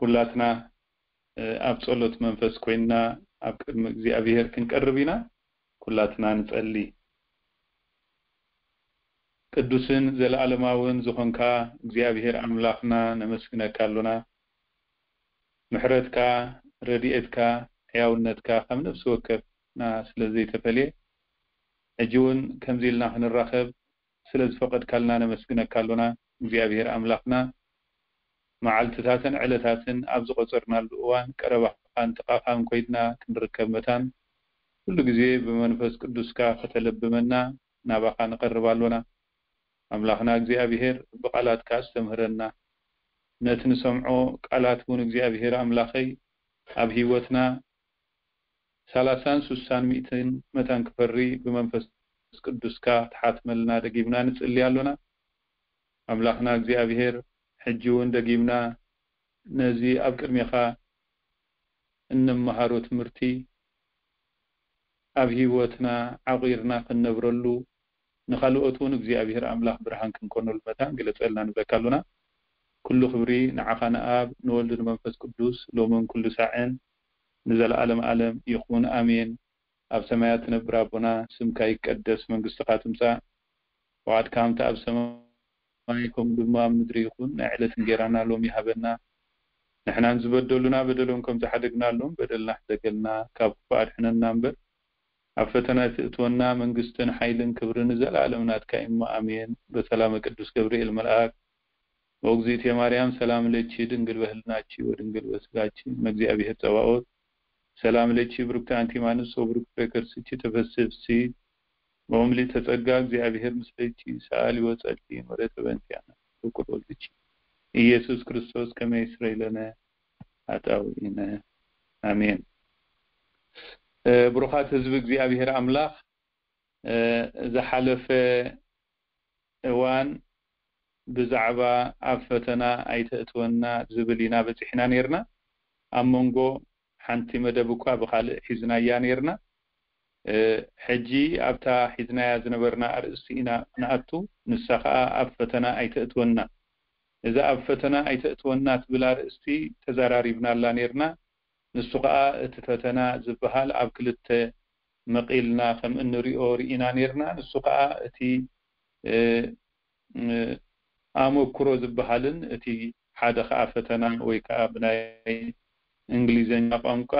ኩላትና ኣብ ጸሎት መንፈስ ኮይንና ኣብ ቅድሚ እግዚኣብሔር ክንቀርብ ኢና። ኩላትና ንጸሊ። ቅዱስን ዘለኣለማውን ዝኾንካ እግዚኣብሔር ኣምላኽና ነመስግነካ ኣሎና። ምሕረትካ፣ ረድኤትካ፣ ሕያውነትካ ከም ነፍሲ ወከፍና ስለ ዘይተፈልየ፣ ሕጂ እውን ከምዚ ኢልና ክንራኸብ ስለ ዝፈቐድካልና ነመስግነካ ኣሎና። እግዚኣብሔር ኣምላኽና፣ መዓልትታትን ዕለታትን ኣብ ዝቖጸርናሉ እዋን፣ ቀረባኻን ጥቓኻን ኮይንና ክንርከብ መታን፣ ኩሉ ግዜ ብመንፈስ ቅዱስካ ከተለብመና ናባኻ ንቐርብ ኣሎና። ኣምላኽና እግዚኣብሔር፣ ብቓላትካ ኣስተምህረና። ነቲ ንሰምዖ ቃላት እውን እግዚኣብሔር ኣምላኸይ፣ ኣብ ህይወትና ሰላሳን ስሳን ሚእትን መታን ክፈሪ ብመንፈስ ቅዱስካ ክትሓትመልና ደጊምና ንጽሊ ኣሎና። ኣምላኽና እግዚኣብሔር፣ ሕጂ እውን ደጊምና ነዚ ኣብ ቅድሜኻ እንመሃሮ ትምህርቲ ኣብ ህይወትና ዓቒርና ክንነብረሉ፣ ንኻልኦት እውን እግዚኣብሔር ኣምላኽ ብርሃን ክንኮነሉ መታን ግለጸልና ንብለካ ኣሎና። ኩሉ ክብሪ ንዓኻ ንኣብ፣ ንወልድ፣ ንመንፈስ ቅዱስ፣ ሎምን ኩሉ ሳዕን ንዘለዓለም ዓለም ይኹን፣ ኣሜን። ኣብ ሰማያት ትነብር ኣቦና፣ ስምካ ይቀደስ፣ መንግስትኻ ትምጻእ፣ ፍቓድካ ከምቲ ኣብ ሰማይ ከምኡ ድማ ኣብ ምድሪ ይኹን። ናይ ዕለት እንጌራና ሎሚ ሃበና። ንሕናን ዝበደሉና በደሎም ከም ዝሓደግናሎም በደልና ሕደገልና፣ ካብ ክፉእ ኣድሕነና እምበር፣ ኣብ ፈተና ኣይትእትወና፣ መንግስትን ሓይልን ክብርን ንዘለኣለም ናትካ እዩ እሞ፣ ኣሜን። በሰላመ ቅዱስ ገብርኤል መልኣክ፣ ወእግዝእትየ ማርያም ሰላም ለኪ ድንግል በህልናኪ ወድንግል በስጋኪ እመ እግዚአብሔር ጸባኦት ሰላም ለኪ ብሩክቲ አንቲ እማንስ ወብሩክ ፍሬ ከርስኪ ተፈስሒ ፍስሕቲ ወምልእተ ጸጋ እግዚአብሔር ምስሌኪ ሰአሊ ወጸሊ ምሕረተ በእንቲአነ ፍቁር ወልድኪ ኢየሱስ ክርስቶስ ከመ ይስረይ ለነ ኃጣውኢነ። ኣሜን። እ፣ ብሩኻት ህዝቢ እግዚኣብሔር ኣምላኽ፣ እ፣ ዝሓለፈ እዋን ብዛዕባ ኣብ ፈተና ኣይተእትወና ዝብል ኢና በጺሕና ነይርና። ኣብ መንጎ ሓንቲ መደብ እኳ ብኻልእ ሒዝናያ ነይርና። እ፣ ሕጂ ኣብታ ሒዝናያ ዝነበርና ኣርእስቲ ኢና ንኣቱ፣ ንሳ ኸኣ ኣብ ፈተና ኣይተእትወና። እዛ ኣብ ፈተና ኣይተእትወና ትብል ኣርእስቲ ተዘራሪብናላ ነይርና። ንሱ ኸኣ እቲ ፈተና ዝበሃል ኣብ ክልተ መቒልና ከም እንሪኦ ርኢና ነይርና። ንሱ ኸኣ እቲ፣ እ፣ እ፣ ኣመክሮ ዝበሃልን እቲ ሓደ ኸኣ ፈተና ወይ ከኣ ብናይ እንግሊዘኛ ቋንቋ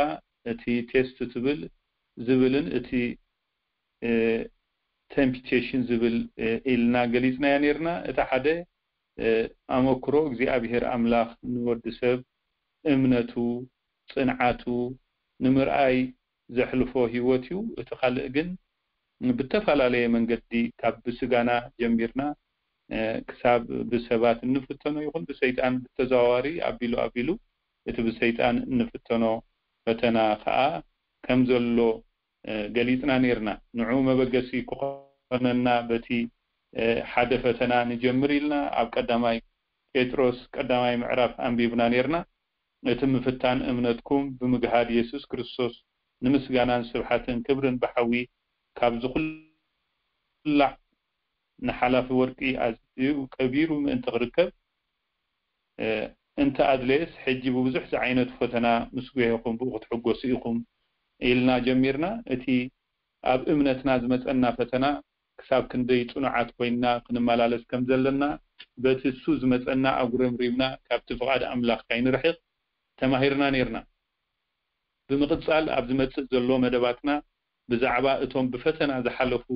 እቲ ቴስት ትብል ዝብልን እቲ፣ እ፣ ቴምፕቴሽን ዝብል፣ እ፣ ኢልና ገሊጽናዮ ነይርና። እቲ ሓደ፣ እ፣ ኣመክሮ እግዚኣብሔር ኣምላኽ ንወዲ ሰብ እምነቱ፣ ጽንዓቱ ንምርኣይ ዘሕልፎ ህይወት እዩ። እቲ ካልእ ግን ብተፈላለየ መንገዲ ካብ ብስጋና ጀሚርና፣ እ፣ ክሳብ ብሰባት እንፍተኖ ይኹን ብሰይጣን ብተዘዋዋሪ ኣቢሉ ኣቢሉ እቲ ብሰይጣን እንፍተኖ ፈተና ኸኣ ከም ዘሎ፣ እ፣ ገሊጽና ነይርና። ንዑ መበገሲ ክኾነና በቲ፣ እ፣ ሓደ ፈተና ንጀምር ኢልና ኣብ ቀዳማይ ጴጥሮስ ቀዳማይ ምዕራፍ ኣንቢብና ነይርና። እቲ ምፍታን እምነትኩም ብምግሃድ የሱስ ክርስቶስ ንምስጋናን ስብሓትን ክብርን ብሓዊ ካብ ዝኹላዕ ንሓላፊ ወርቂ ኣዝዩ ከቢሩ ምእንቲ ክርከብ፣ እ፣ እንተ ኣድለየስ፣ ሕጂ ብብዙሕ ዝዓይነቱ ፈተና ምስ ጒሄኹም ብኡ ክትሕጎሱ ኢኹም ኢልና ጀሚርና። እቲ ኣብ እምነትና ዝመጸና ፈተና ክሳብ ክንደይ ጽኑዓት ኮይንና ክንመላለስ ከም ዘለና፣ በቲ እሱ ዝመጸና ኣጉረምሪምና ካብቲ ፍቓድ ኣምላኽ ካይንርሕቕ ተማሂርና ነይርና። ብምቕጻል ኣብ ዝመጽእ ዘሎ መደባትና ብዛዕባ እቶም ብፈተና ዝሓለፉ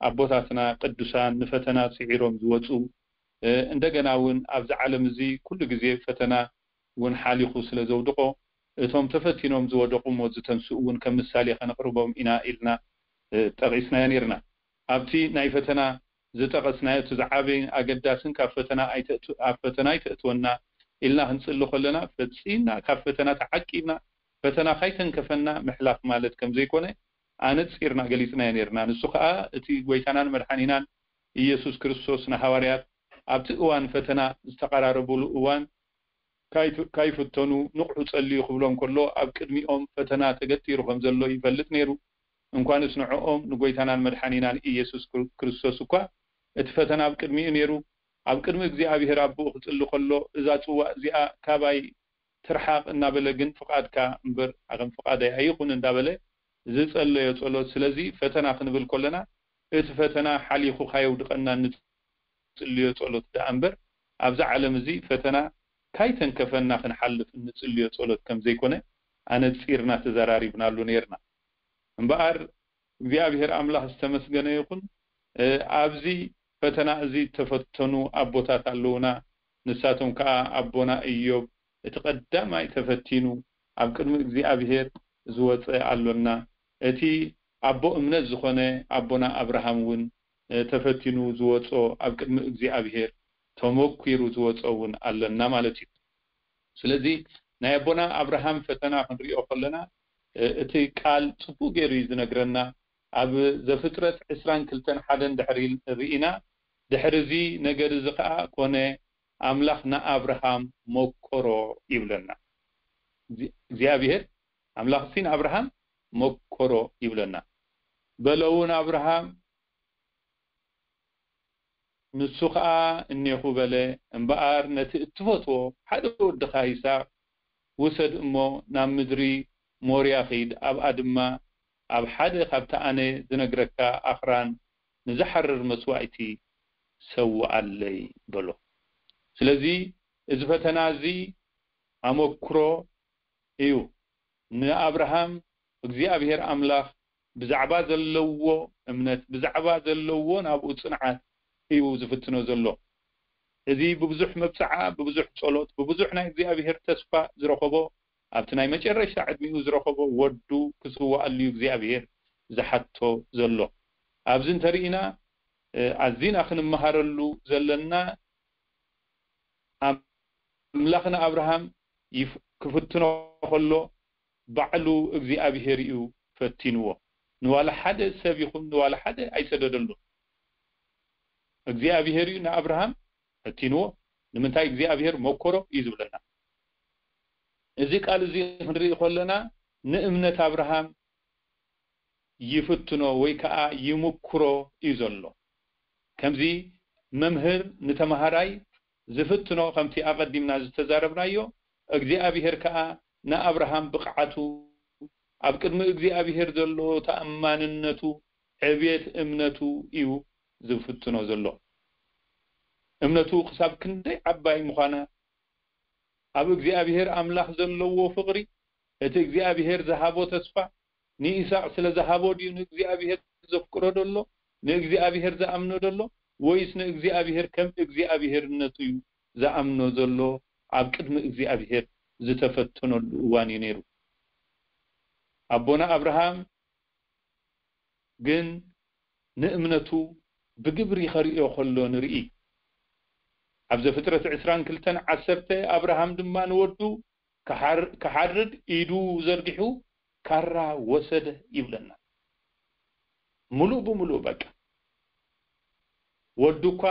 ኣቦታትና ቅዱሳን ንፈተና ስዒሮም ዝወጹ፣ እ፣ እንደገና እውን ኣብዚ ዓለም እዚ ኩሉ ግዜ ፈተና እውን ሓሊኹ ስለ ዘውድቖ፣ እቶም ተፈቲኖም ዝወደቑ እሞ ዝተንስኡ እውን ከም ምሳሌ ከነቕርቦም ኢና ኢልና፣ እ፣ ጠቒስናዮ ነይርና። ኣብቲ ናይ ፈተና ዝጠቐስናዮ እቲ ዝዓበይን ኣገዳስን ካብ ፈተና ኣይተእቱ-፣ ኣብ ፈተና ኣይተእትወና ኢልና ክንጽሊ ከለና ፈጺምና ካብ ፈተና ተዓቂብና ፈተና ካይተንከፈና ምሕላፍ ማለት ከም ዘይኮነ ኣነጺርና ገሊጽናዮ ነይርና። ንሱ ከኣ እቲ ጐይታናን መድሓኒናን ኢየሱስ ክርስቶስ ንሃዋርያት ኣብቲ እዋን ፈተና ዝተቐራረቡሉ እዋን ካይት-፣ ካይፍተኑ ንቕሑ ጸልዩ ክብሎም ከሎ ኣብ ቅድሚኦም ፈተና ተገቲሩ ከም ዘሎ ይፈልጥ ነይሩ። እንኳንስ ንዕኦም ንጐይታናን መድሓኒናን ኢየሱስ ክር-፣ ክርስቶስ እኳ እቲ ፈተና ኣብ ቅድሚኡ ነይሩ። ኣብ ቅድሚ እግዚኣብሔር ኣቦኡ ክጽሊ ከሎ እዛ ጽዋእ እዚኣ ካባይ ትርሓቕ እናበለ ግን ፍቓድካ እምበር ከም ፍቓደይ ኣይኹን እንዳበለ ዝጸለዮ ጸሎት። ስለዚ ፈተና ክንብል ከለና እቲ ፈተና ሓሊኹ ካየውድቐና እንጽልዮ ጸሎት ደኣ እምበር ኣብዚ ዓለም እዚ ፈተና ካይተንከፈና ክንሓልፍ እንጽልዮ ጸሎት ከም ዘይኮነ ኣነጺርና ተዘራሪብናሉ ነይርና። እምበኣር እግዚኣብሔር ኣምላኽ ዝተመስገነ ይኹን። እ፣ ኣብዚ ፈተና እዚ ተፈተኑ ኣቦታት ኣለዉና። ንሳቶም ከኣ ኣቦና ኢዮብ እቲ ቀዳማይ ተፈቲኑ ኣብ ቅድሚ እግዚኣብሔር ዝወጸ ኣሎና። እቲ ኣቦ እምነት ዝኾነ ኣቦና ኣብርሃም እውን፣ እ፣ ተፈቲኑ ዝወጾ፣ ኣብ ቅድሚ እግዚኣብሔር ተመኲሩ ዝወጾ እውን ኣለና ማለት እዩ። ስለዚ ናይ ኣቦና ኣብርሃም ፈተና ክንሪኦ ከለና፣ እ፣ እቲ ቃል ጽቡቕ ገይሩ እዩ ዝነግረና። ኣብ ዘፍጥረት ዕስራን ክልተን ሓደን ድሕሪ ርኢና፣ ድሕሪ እዚ ነገር እዚ ኸኣ ኮነ፣ ኣምላኽ ንኣብርሃም መኮሮ ይብለና። እዚ-፣ እግዚኣብሔር ኣምላኽሲ ንኣብርሃም መኮሮ ይብለና። በሎ እውን ኣብርሃም፣ ንሱ ኸኣ እኔኹ በለ። እምበኣር ነቲ እትፈትዎ ሓደ ወድኻ ይስሐቅ ውሰድ እሞ ናብ ምድሪ ሞርያ ኺድ፣ ኣብኣ ድማ ኣብ ሓደ ካብቲ ኣነ ዝነግረካ ኣኽራን ንዝሓርር መስዋእቲ ሰውኣለይ በሎ። ስለዚ እዚ ፈተና እዚ ኣመክሮ እዩ። ንኣብርሃም እግዚኣብሔር ኣምላኽ ብዛዕባ ዘለዎ እምነት፣ ብዛዕባ ዘለዎ ናብኡ ጽንዓት እዩ ዝፍትኖ ዘሎ። እዚ ብብዙሕ መብጽዓ፣ ብብዙሕ ጸሎት፣ ብብዙሕ ናይ እግዚኣብሔር ተስፋ ዝረኸቦ፣ ኣብቲ ናይ መጨረሽታ ዕድሚኡ ዝረኸቦ ወዱ ክስውኣሉ እዩ እግዚኣብሔር ዝሓቶ ዘሎ። ኣብዚ እንተርኢና፣ እ፣ ኣዚና ክንመሃረሉ ዘለና፣ ኣምላኽ ንኣብርሃም ይፍ-፣ ክፍትኖ ከሎ ባዕሉ እግዚኣብሔር እዩ ፈቲንዎ። ንዋላ ሓደ ሰብ ይኹን ንዋላ ሓደ ኣይሰደደሉን። እግዚኣብሔር እዩ ንኣብርሃም ፈቲንዎ። ንምንታይ እግዚኣብሔር መኮሮ እዩ ዝብለና። እዚ ቃል እዚ ክንርኢ ከለና ንእምነት ኣብርሃም ይፍትኖ ወይ ከዓ ይምክሮ እዩ ዘሎ። ከምዚ መምህር ንተምሃራይ ዝፍትኖ፣ ከምቲ ኣቐዲምና ዝተዛረብናዮ፣ እግዚኣብሔር ከዓ ንኣብርሃም ብቕዓቱ፣ ኣብ ቅድሚ እግዚኣብሔር ዘሎ ተኣማንነቱ፣ ዕብየት እምነቱ እዩ ዝፍትኖ ዘሎ። እምነቱ ክሳብ ክንደይ ዓባይ ምዃና፣ ኣብ እግዚኣብሔር ኣምላኽ ዘለዎ ፍቕሪ፣ እቲ እግዚኣብሔር ዝሃቦ ተስፋ፣ ንይስሐቅ ስለ ዝሃቦ ድዩ ንእግዚኣብሔር ዘፍቅሮ ዘሎ፣ ንእግዚኣብሔር ዝኣምኖ ዘሎ፣ ወይስ ንእግዚኣብሔር ከም እግዚኣብሔርነቱ እዩ ዝኣምኖ ዘሎ? ኣብ ቅድሚ እግዚኣብሔር ዝተፈተነሉ እዋን እዩ ነይሩ። ኣቦና ኣብርሃም ግን ንእምነቱ ብግብሪ ከርእዮ ከሎ ንርኢ። ኣብ ዘፍጥረት ዕስራን ክልተን ዓሰርተ ኣብርሃም ድማ ንወዱ ክሓር-፣ ክሓርድ ኢዱ ዘርጊሑ ካራ ወሰደ ይብለና። ምሉእ ብምሉእ በቃ። ወዱ እኳ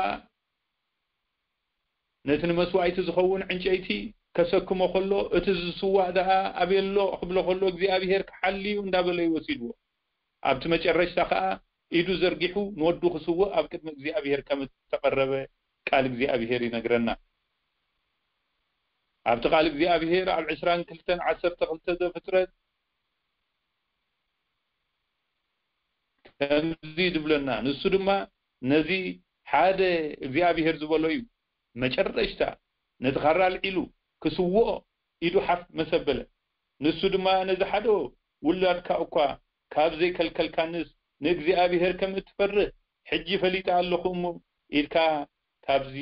ነቲ ንመስዋእቲ ዝኸውን ዕንጨይቲ ከሰክሞ ከሎ፣ እቲ ዝስዋእ ደኣ ኣበይ ኣሎ ክብሎ ከሎ፣ እግዚኣብሔር ክሓሊ እዩ እንዳበለ እዩ ወሲድዎ። ኣብቲ መጨረሽታ ከኣ ኢዱ ዘርጊሑ ንወዱ ክስውእ ኣብ ቅድሚ እግዚኣብሔር ከም እተቐረበ ቃል እግዚኣብሔር ይነግረና። ኣብቲ ቃል እግዚኣብሔር ኣብ ዕስራን ክልተን ዓሰርተ ክልተ ዘፍጥረት ከምዚ ዝብለና፣ ንሱ ድማ ነዚ ሓደ እግዚኣብሔር ዝበሎ እዩ። መጨረሽታ ነቲ ካራ ኣልዒሉ ክስውኦ ኢዱ ሓፍ መሰበለ። ንሱ ድማ ነዚ ሓደ ውላድካ እኳ ካብ ዘይከልከልካንስ ንእግዚኣብሔር ከም እትፈርህ ሕጂ ፈሊጠ ኣለኹ እሞ ኢድካ ካብዚ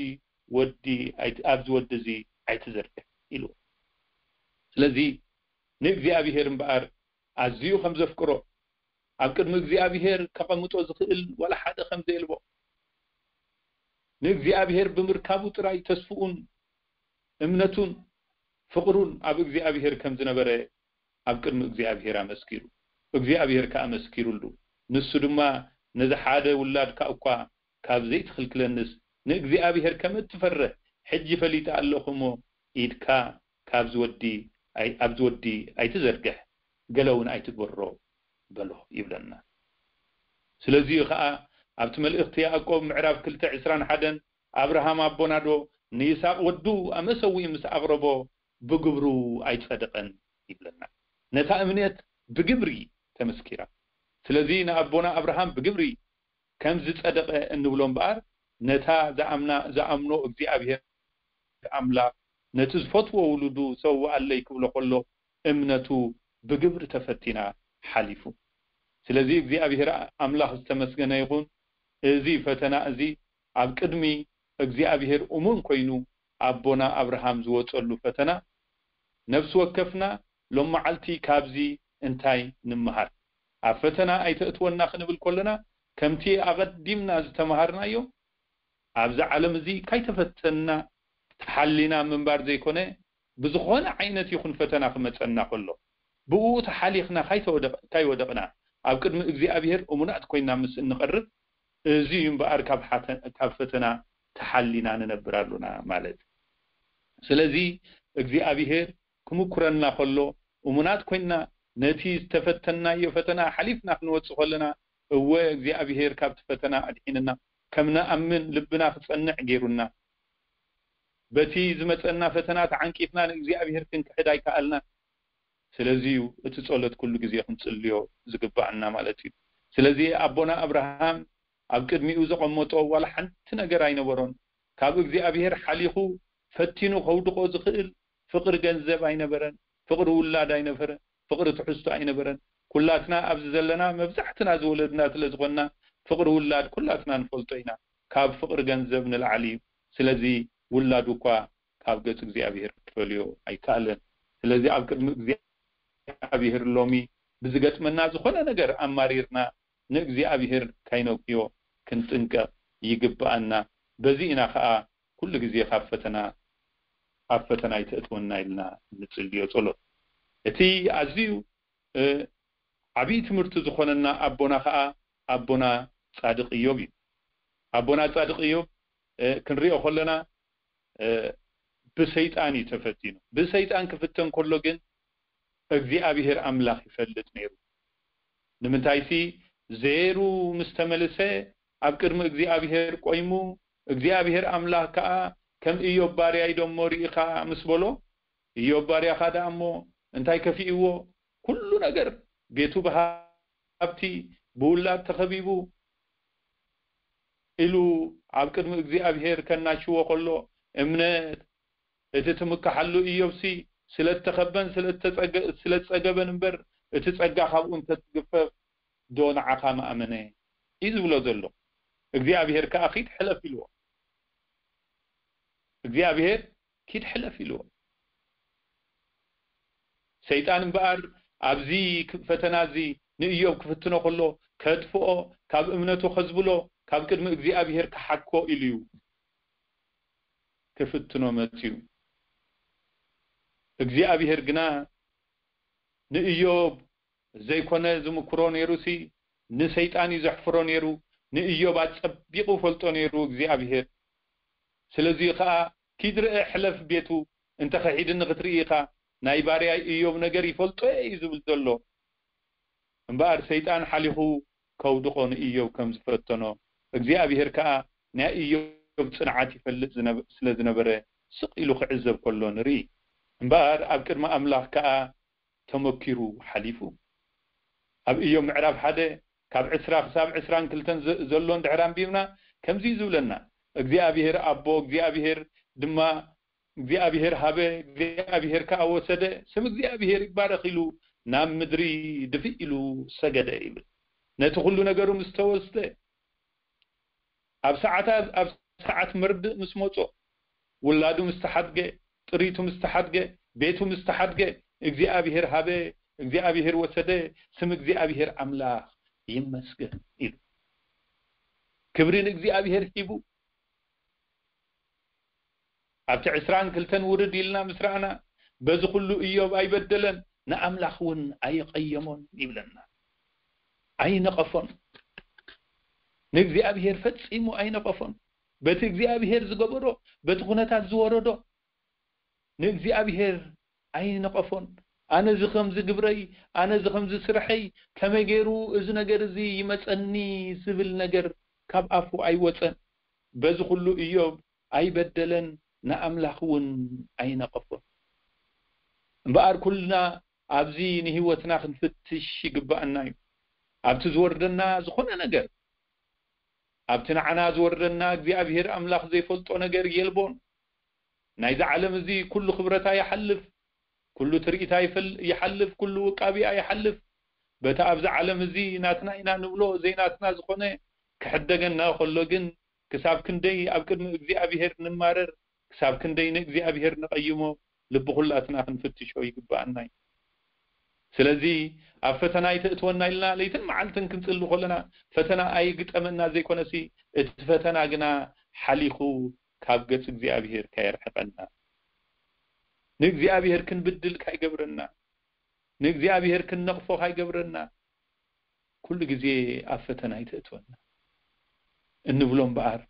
ወዲ ኣይ-፣ ኣብዚ ወዲ እዚ ኣይትዘርግሕ ኢሉ። ስለዚ ንእግዚኣብሔር እምበኣር ኣዝዩ ከም ዘፍቅሮ፣ ኣብ ቅድሚ እግዚኣብሔር ከቐምጦ ዝኽእል ዋላ ሓደ ከም ዘየልቦ፣ ንእግዚኣብሔር ብምርካቡ ጥራይ ተስፍኡን እምነቱን ፍቕሩን ኣብ እግዚኣብሔር ከም ዝነበረ ኣብ ቅድሚ እግዚኣብሔር ኣመስኪሩ። እግዚኣብሔር ከኣ ኣመስኪሩሉ። ንሱ ድማ ነዚ ሓደ ውላድካ እኳ ካብ ዘይትኽልክለንስ ንእግዚኣብሔር ከም እትፈርህ ሕጂ ፈሊጠ ኣለኹ እሞ ኢድካ ካብዚ ወዲ ኣይ-፣ ኣብዚ ወዲ ኣይትዘርግሕ፣ ገለ እውን ኣይትግበሮ በሎ ይብለና። ስለዚ እዩ ኸኣ ኣብቲ መልእኽቲ ያዕቆብ ምዕራፍ ክልተ ዕስራን ሓደን ኣብርሃም ኣቦና ዶ ንይስሐቅ ወዱ ኣብ መሰውኢ ምስ ኣቕረቦ ብግብሩ ኣይጸደቐን ይብለና። ነታ እምነት ብግብሪ ተመስኪራ። ስለዚ ንኣቦና ኣብርሃም ብግብሪ ከም ዝጸደቐ እንብሎ እምበኣር፣ ነታ ዝኣምና-፣ ዝኣምኖ እግዚኣብሔር ኣምላኽ ነቲ ዝፈትዎ ውሉዱ ሰውኣለይ ክብሎ ከሎ እምነቱ ብግብሪ ተፈቲና ሓሊፉ። ስለዚ እግዚኣብሔር ኣምላኽ ዝተመስገነ ይኹን። እዚ ፈተና እዚ ኣብ ቅድሚ እግዚኣብሔር እሙን ኮይኑ ኣቦና ኣብርሃም ዝወጸሉ ፈተና፣ ነፍሲ ወከፍና ሎም መዓልቲ ካብዚ እንታይ ንምሃር? ኣብ ፈተና ኣይተእትወና ክንብል ከለና፣ ከምቲ ኣቐዲምና ዝተምሃርናዮ፣ ኣብዚ ዓለም እዚ ካይተፈተና ተሓሊና ምንባር ዘይኮነ፣ ብዝኾነ ዓይነት ይኹን ፈተና ክመጸና ከሎ፣ ብኡ ተሓሊኽና ካይተወደቕ-፣ ካይወደቕና፣ ኣብ ቅድሚ እግዚኣብሔር እሙናት ኮይና ምስ እንቐርብ፣ እዚ እዩ እምበኣር ካብ ሓተ-፣ ካብ ፈተና ተሓሊና ንነብር ኣሉና ማለት። ስለዚ እግዚኣብሔር ክምኩረና ከሎ፣ እሙናት ኮይና ነቲ ዝተፈተናዮ ፈተና ሓሊፍና ክንወጽእ ከለና፣ እወ እግዚኣብሔር ካብቲ ፈተና ኣድሒንና፣ ከም ንኣምን ልብና ክጸንዕ ገይሩና። በቲ ዝመጸና ፈተና ተዓንቂፍና ንእግዚኣብሔር ክንክሕድ ኣይከኣልናን። ስለዚ እዩ እቲ ጸሎት ኩሉ ግዜ ክንጽልዮ ዝግባኣና ማለት እዩ። ስለዚ ኣቦና ኣብርሃም ኣብ ቅድሚኡ ዘቐመጦ ዋላ ሓንቲ ነገር ኣይነበሮን። ካብ እግዚኣብሔር ሓሊኹ ፈቲኑ ከውድቖ ዝኽእል ፍቕሪ ገንዘብ ኣይነበረን፣ ፍቕሪ ውላድ ኣይነበረን፣ ፍቕሪ ትሕዝቶ ኣይነበረን። ኩላትና ኣብዚ ዘለና መብዛሕትና ዝወለድና ስለ ዝኾንና ፍቕሪ ውላድ ኩላትና ንፈልጦ ኢና። ካብ ፍቕሪ ገንዘብ ንላዕሊ እዩ። ስለዚ ውላዱ እኳ ካብ ገጽ እግዚኣብሔር ክፈልዮ ኣይከኣለን። ስለዚ ኣብ ቅድሚ እግዚኣብሔር ሎሚ ብዝገጥመና ዝኾነ ነገር ኣማሪርና ንእግዚኣብሔር ካይነግዮ ክንጥንቀቕ ይግብኣና። በዚ ኢና ኸኣ ኩሉ ግዜ ካብ ፈተና፣ ኣብ ፈተና ኣይተእትወና ኢልና እንጽልዮ ጸሎት። እቲ ኣዝዩ፣ እ፣ ዓብዪ ትምህርቲ ዝኾነና ኣቦና ኸኣ ኣቦና ጻድቕ ኢዮብ እዩ። ኣቦና ጻድቕ ኢዮብ፣ እ፣ ክንሪኦ ከለና፣ እ፣ ብሰይጣን እዩ ተፈቲኑ። ብሰይጣን ክፍተን ከሎ ግን እግዚኣብሔር ኣምላኽ ይፈልጥ ነይሩ። ንምንታይሲ ዜሩ ምስ ተመልሰ ኣብ ቅድሚ እግዚኣብሔር ቆይሙ፣ እግዚኣብሔር ኣምላኽ ከኣ ከም ኢዮብ ባርያይ ደሞ ርኢኻ ምስ በሎ፣ ኢዮብ ባርያኻ ደኣ እሞ እንታይ ከፊእዎ? ኩሉ ነገር፣ ቤቱ ብሃብቲ፣ ብውላድ ተኸቢቡ ኢሉ ኣብ ቅድሚ እግዚኣብሔር ከናሽዎ ከሎ፣ እምነት እቲ ትምክሓሉ ኢዮብሲ ስለ እተኸበን ስለ እተጸገ-፣ ስለ እጸገበን እምበር፣ እቲ ጸጋ ካብኡ እንተትግፈፍ ዶ ንዓኻ ምኣመነ እዩ ዝብሎ ዘሎ። እግዚኣብሔር ከኣ ኪድ ሕለፍ ኢልዎ። እግዚኣብሔር ኪድ ሕለፍ ኢልዎ። ሰይጣን እምበኣር ኣብዚ ክ-፣ ፈተና እዚ ንእዮብ ክፍትኖ ከሎ፣ ከጥፍኦ፣ ካብ እምነቱ ከዝብሎ፣ ካብ ቅድሚ እግዚኣብሔር ክሓኮ ኢሉ እዩ ክፍትኖ መጽዩ። እግዚኣብሔር ግና ንእዮብ ዘይኮነ ዝምክሮ ነይሩሲ፣ ንሰይጣን እዩ ዘሕፍሮ ነይሩ። ንእዮብ ኣጸቢቑ ፈልጦ ነይሩ እግዚኣብሔር። ስለዚ ኸኣ ኪድ ርአ ሕለፍ ቤቱ፣ እንተ ኸሒድኒ ክትርኢ ኢኻ፣ ናይ ባርያይ እዮብ ነገር ይፈልጦ እየ እዩ ዝብል ዘሎ። እምበኣር ሰይጣን ሓሊኹ ከውድቖ ንእዮብ ከም ዝፈተኖ፣ እግዚኣብሔር ከኣ ናይ እዮብ ጽንዓት ይፈልጥ ዝነበ-፣ ስለ ዝነበረ፣ ስቕ ኢሉ ክዕዘብ ከሎ ንርኢ። እምበኣር ኣብ ቅድሚ ኣምላኽ ከኣ ተመኪሩ ሓሊፉ። ኣብ እዮብ ምዕራፍ ሓደ ካብ ዕስራ ክሳብ ዕስራን ክልተን ዘ-፣ ዘሎ እንድሕር ኣንቢብና፣ ከምዚ እዩ ዝብለና፣ እግዚኣብሔር ኣቦ፣ እግዚኣብሔር ድማ፣ እግዚኣብሔር ሃበ፣ እግዚኣብሔር ከኣ ወሰደ፣ ስም እግዚኣብሔር ይባረኽ ኢሉ ናብ ምድሪ ድፍእ ኢሉ ሰገደ ይብል። ነቲ ኩሉ ነገሩ ምስ ተወስደ፣ ኣብ ሰዓታ-፣ ኣብ ሰዓት መርድእ ምስ መጾ፣ ውላዱ ምስ ተሓድገ፣ ጥሪቱ ምስ ተሓድገ፣ ቤቱ ምስ ተሓድገ፣ እግዚኣብሔር ሃበ፣ እግዚኣብሔር ወሰደ፣ ስም እግዚኣብሔር ኣምላኽ ይመስገን ኢሉ። ክብሪ ንእግዚኣብሔር ሂቡ። ኣብቲ ዕስራን ክልተን ውርድ ኢልና ምስ ረኣና፣ በዚ ኩሉ እዮብ ኣይበደለን፣ ንኣምላኽ እውን ኣይቐየሞን ይብለና። ኣይነቐፎን። ንእግዚኣብሔር ፈጺሙ ኣይነቐፎን። በቲ እግዚኣብሔር ዝገበሮ፣ በቲ ኩነታት ዝወረዶ፣ ንእግዚኣብሔር ኣይነቐፎን። ኣነ እዚ ከምዚ ግብረይ፣ ኣነ እዚ ከምዚ ስርሐይ፣ ከመይ ገይሩ እዚ ነገር እዚ ይመጸኒ ዝብል ነገር ካብ ኣፉ ኣይወጸን። በዚ ኩሉ እዮብ ኣይበደለን፣ ንኣምላኽ እውን ኣይነቐፎን። እምበኣር ኩልና ኣብዚ ንህይወትና ክንፍትሽ ይግባኣና እዩ። ኣብቲ ዝወርደና ዝኾነ ነገር፣ ኣብቲ ንዓና ዝወርደና እግዚኣብሔር ኣምላኽ ዘይፈልጦ ነገር የልቦን። ናይዚ ዓለም እዚ ኩሉ ክብረታ ይሓልፍ፣ ኩሉ ትርኢታ ይፈል-፣ ይሓልፍ፣ ኩሉ ውቃቢኣ ይሓልፍ። በቲ ኣብዚ ዓለም እዚ ናትና ኢና ንብሎ ዘይናትና ዝኾነ ክሕደገና ከሎ ግን፣ ክሳብ ክንደይ ኣብ ቅድሚ እግዚኣብሔር ንማረር፣ ክሳብ ክንደይ ንእግዚኣብሔር ንቐይሞ፣ ልቢ ኩላትና ክንፍትሾ ይግባኣና እዩ። ስለዚ ኣብ ፈተና ኣይተእትወና ኢልና ለይትን መዓልትን ክንጽሊ ከለና፣ ፈተና ኣይግጠመና ዘይኮነሲ፣ እቲ ፈተና ግና ሓሊኹ ካብ ገጽ እግዚኣብሔር ካየርሕቐና፣ ንእግዚኣብሔር ክንብድል ካይገብረና፣ ንእግዚኣብሔር ክንነቕፎ ካይገብረና፣ ኩሉ ግዜ ኣብ ፈተና ኣይተእትወና እንብሎ እምበኣር፣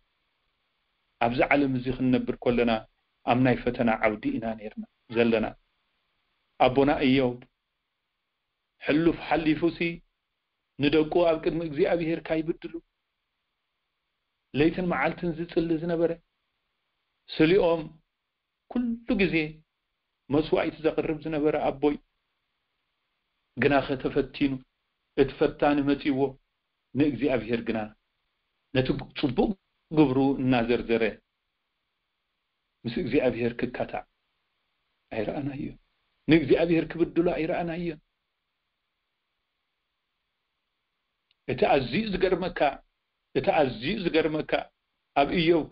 ኣብዚ ዓለም እዚ ክንነብር ከለና ኣብ ናይ ፈተና ዓውዲ ኢና ነይርና ዘለና። ኣቦና እዮብ ሕሉፍ ሓሊፉሲ ንደቁ ኣብ ቅድሚ እግዚኣብሔር ካይብድሉ ለይትን መዓልትን ዝጽሊ ዝነበረ፣ ስሊኦም ኩሉ ግዜ መስዋእቲ ዘቕርብ ዝነበረ ኣቦይ፣ ግናኸ ተፈቲኑ፣ እቲ ፈታኒ መጺዎ፣ ንእግዚኣብሔር ግና ነቲ ጽቡቕ ግብሩ እናዘርዘረ ምስ እግዚኣብሔር ክካታዕ ኣይረኣናዮን። ንእግዚኣብሔር ክብድሎ ኣይረኣናዮን። እቲ ኣዝዩ ዝገርመካ፣ እቲ ኣዝዩ ዝገርመካ፣ ኣብ እዮብ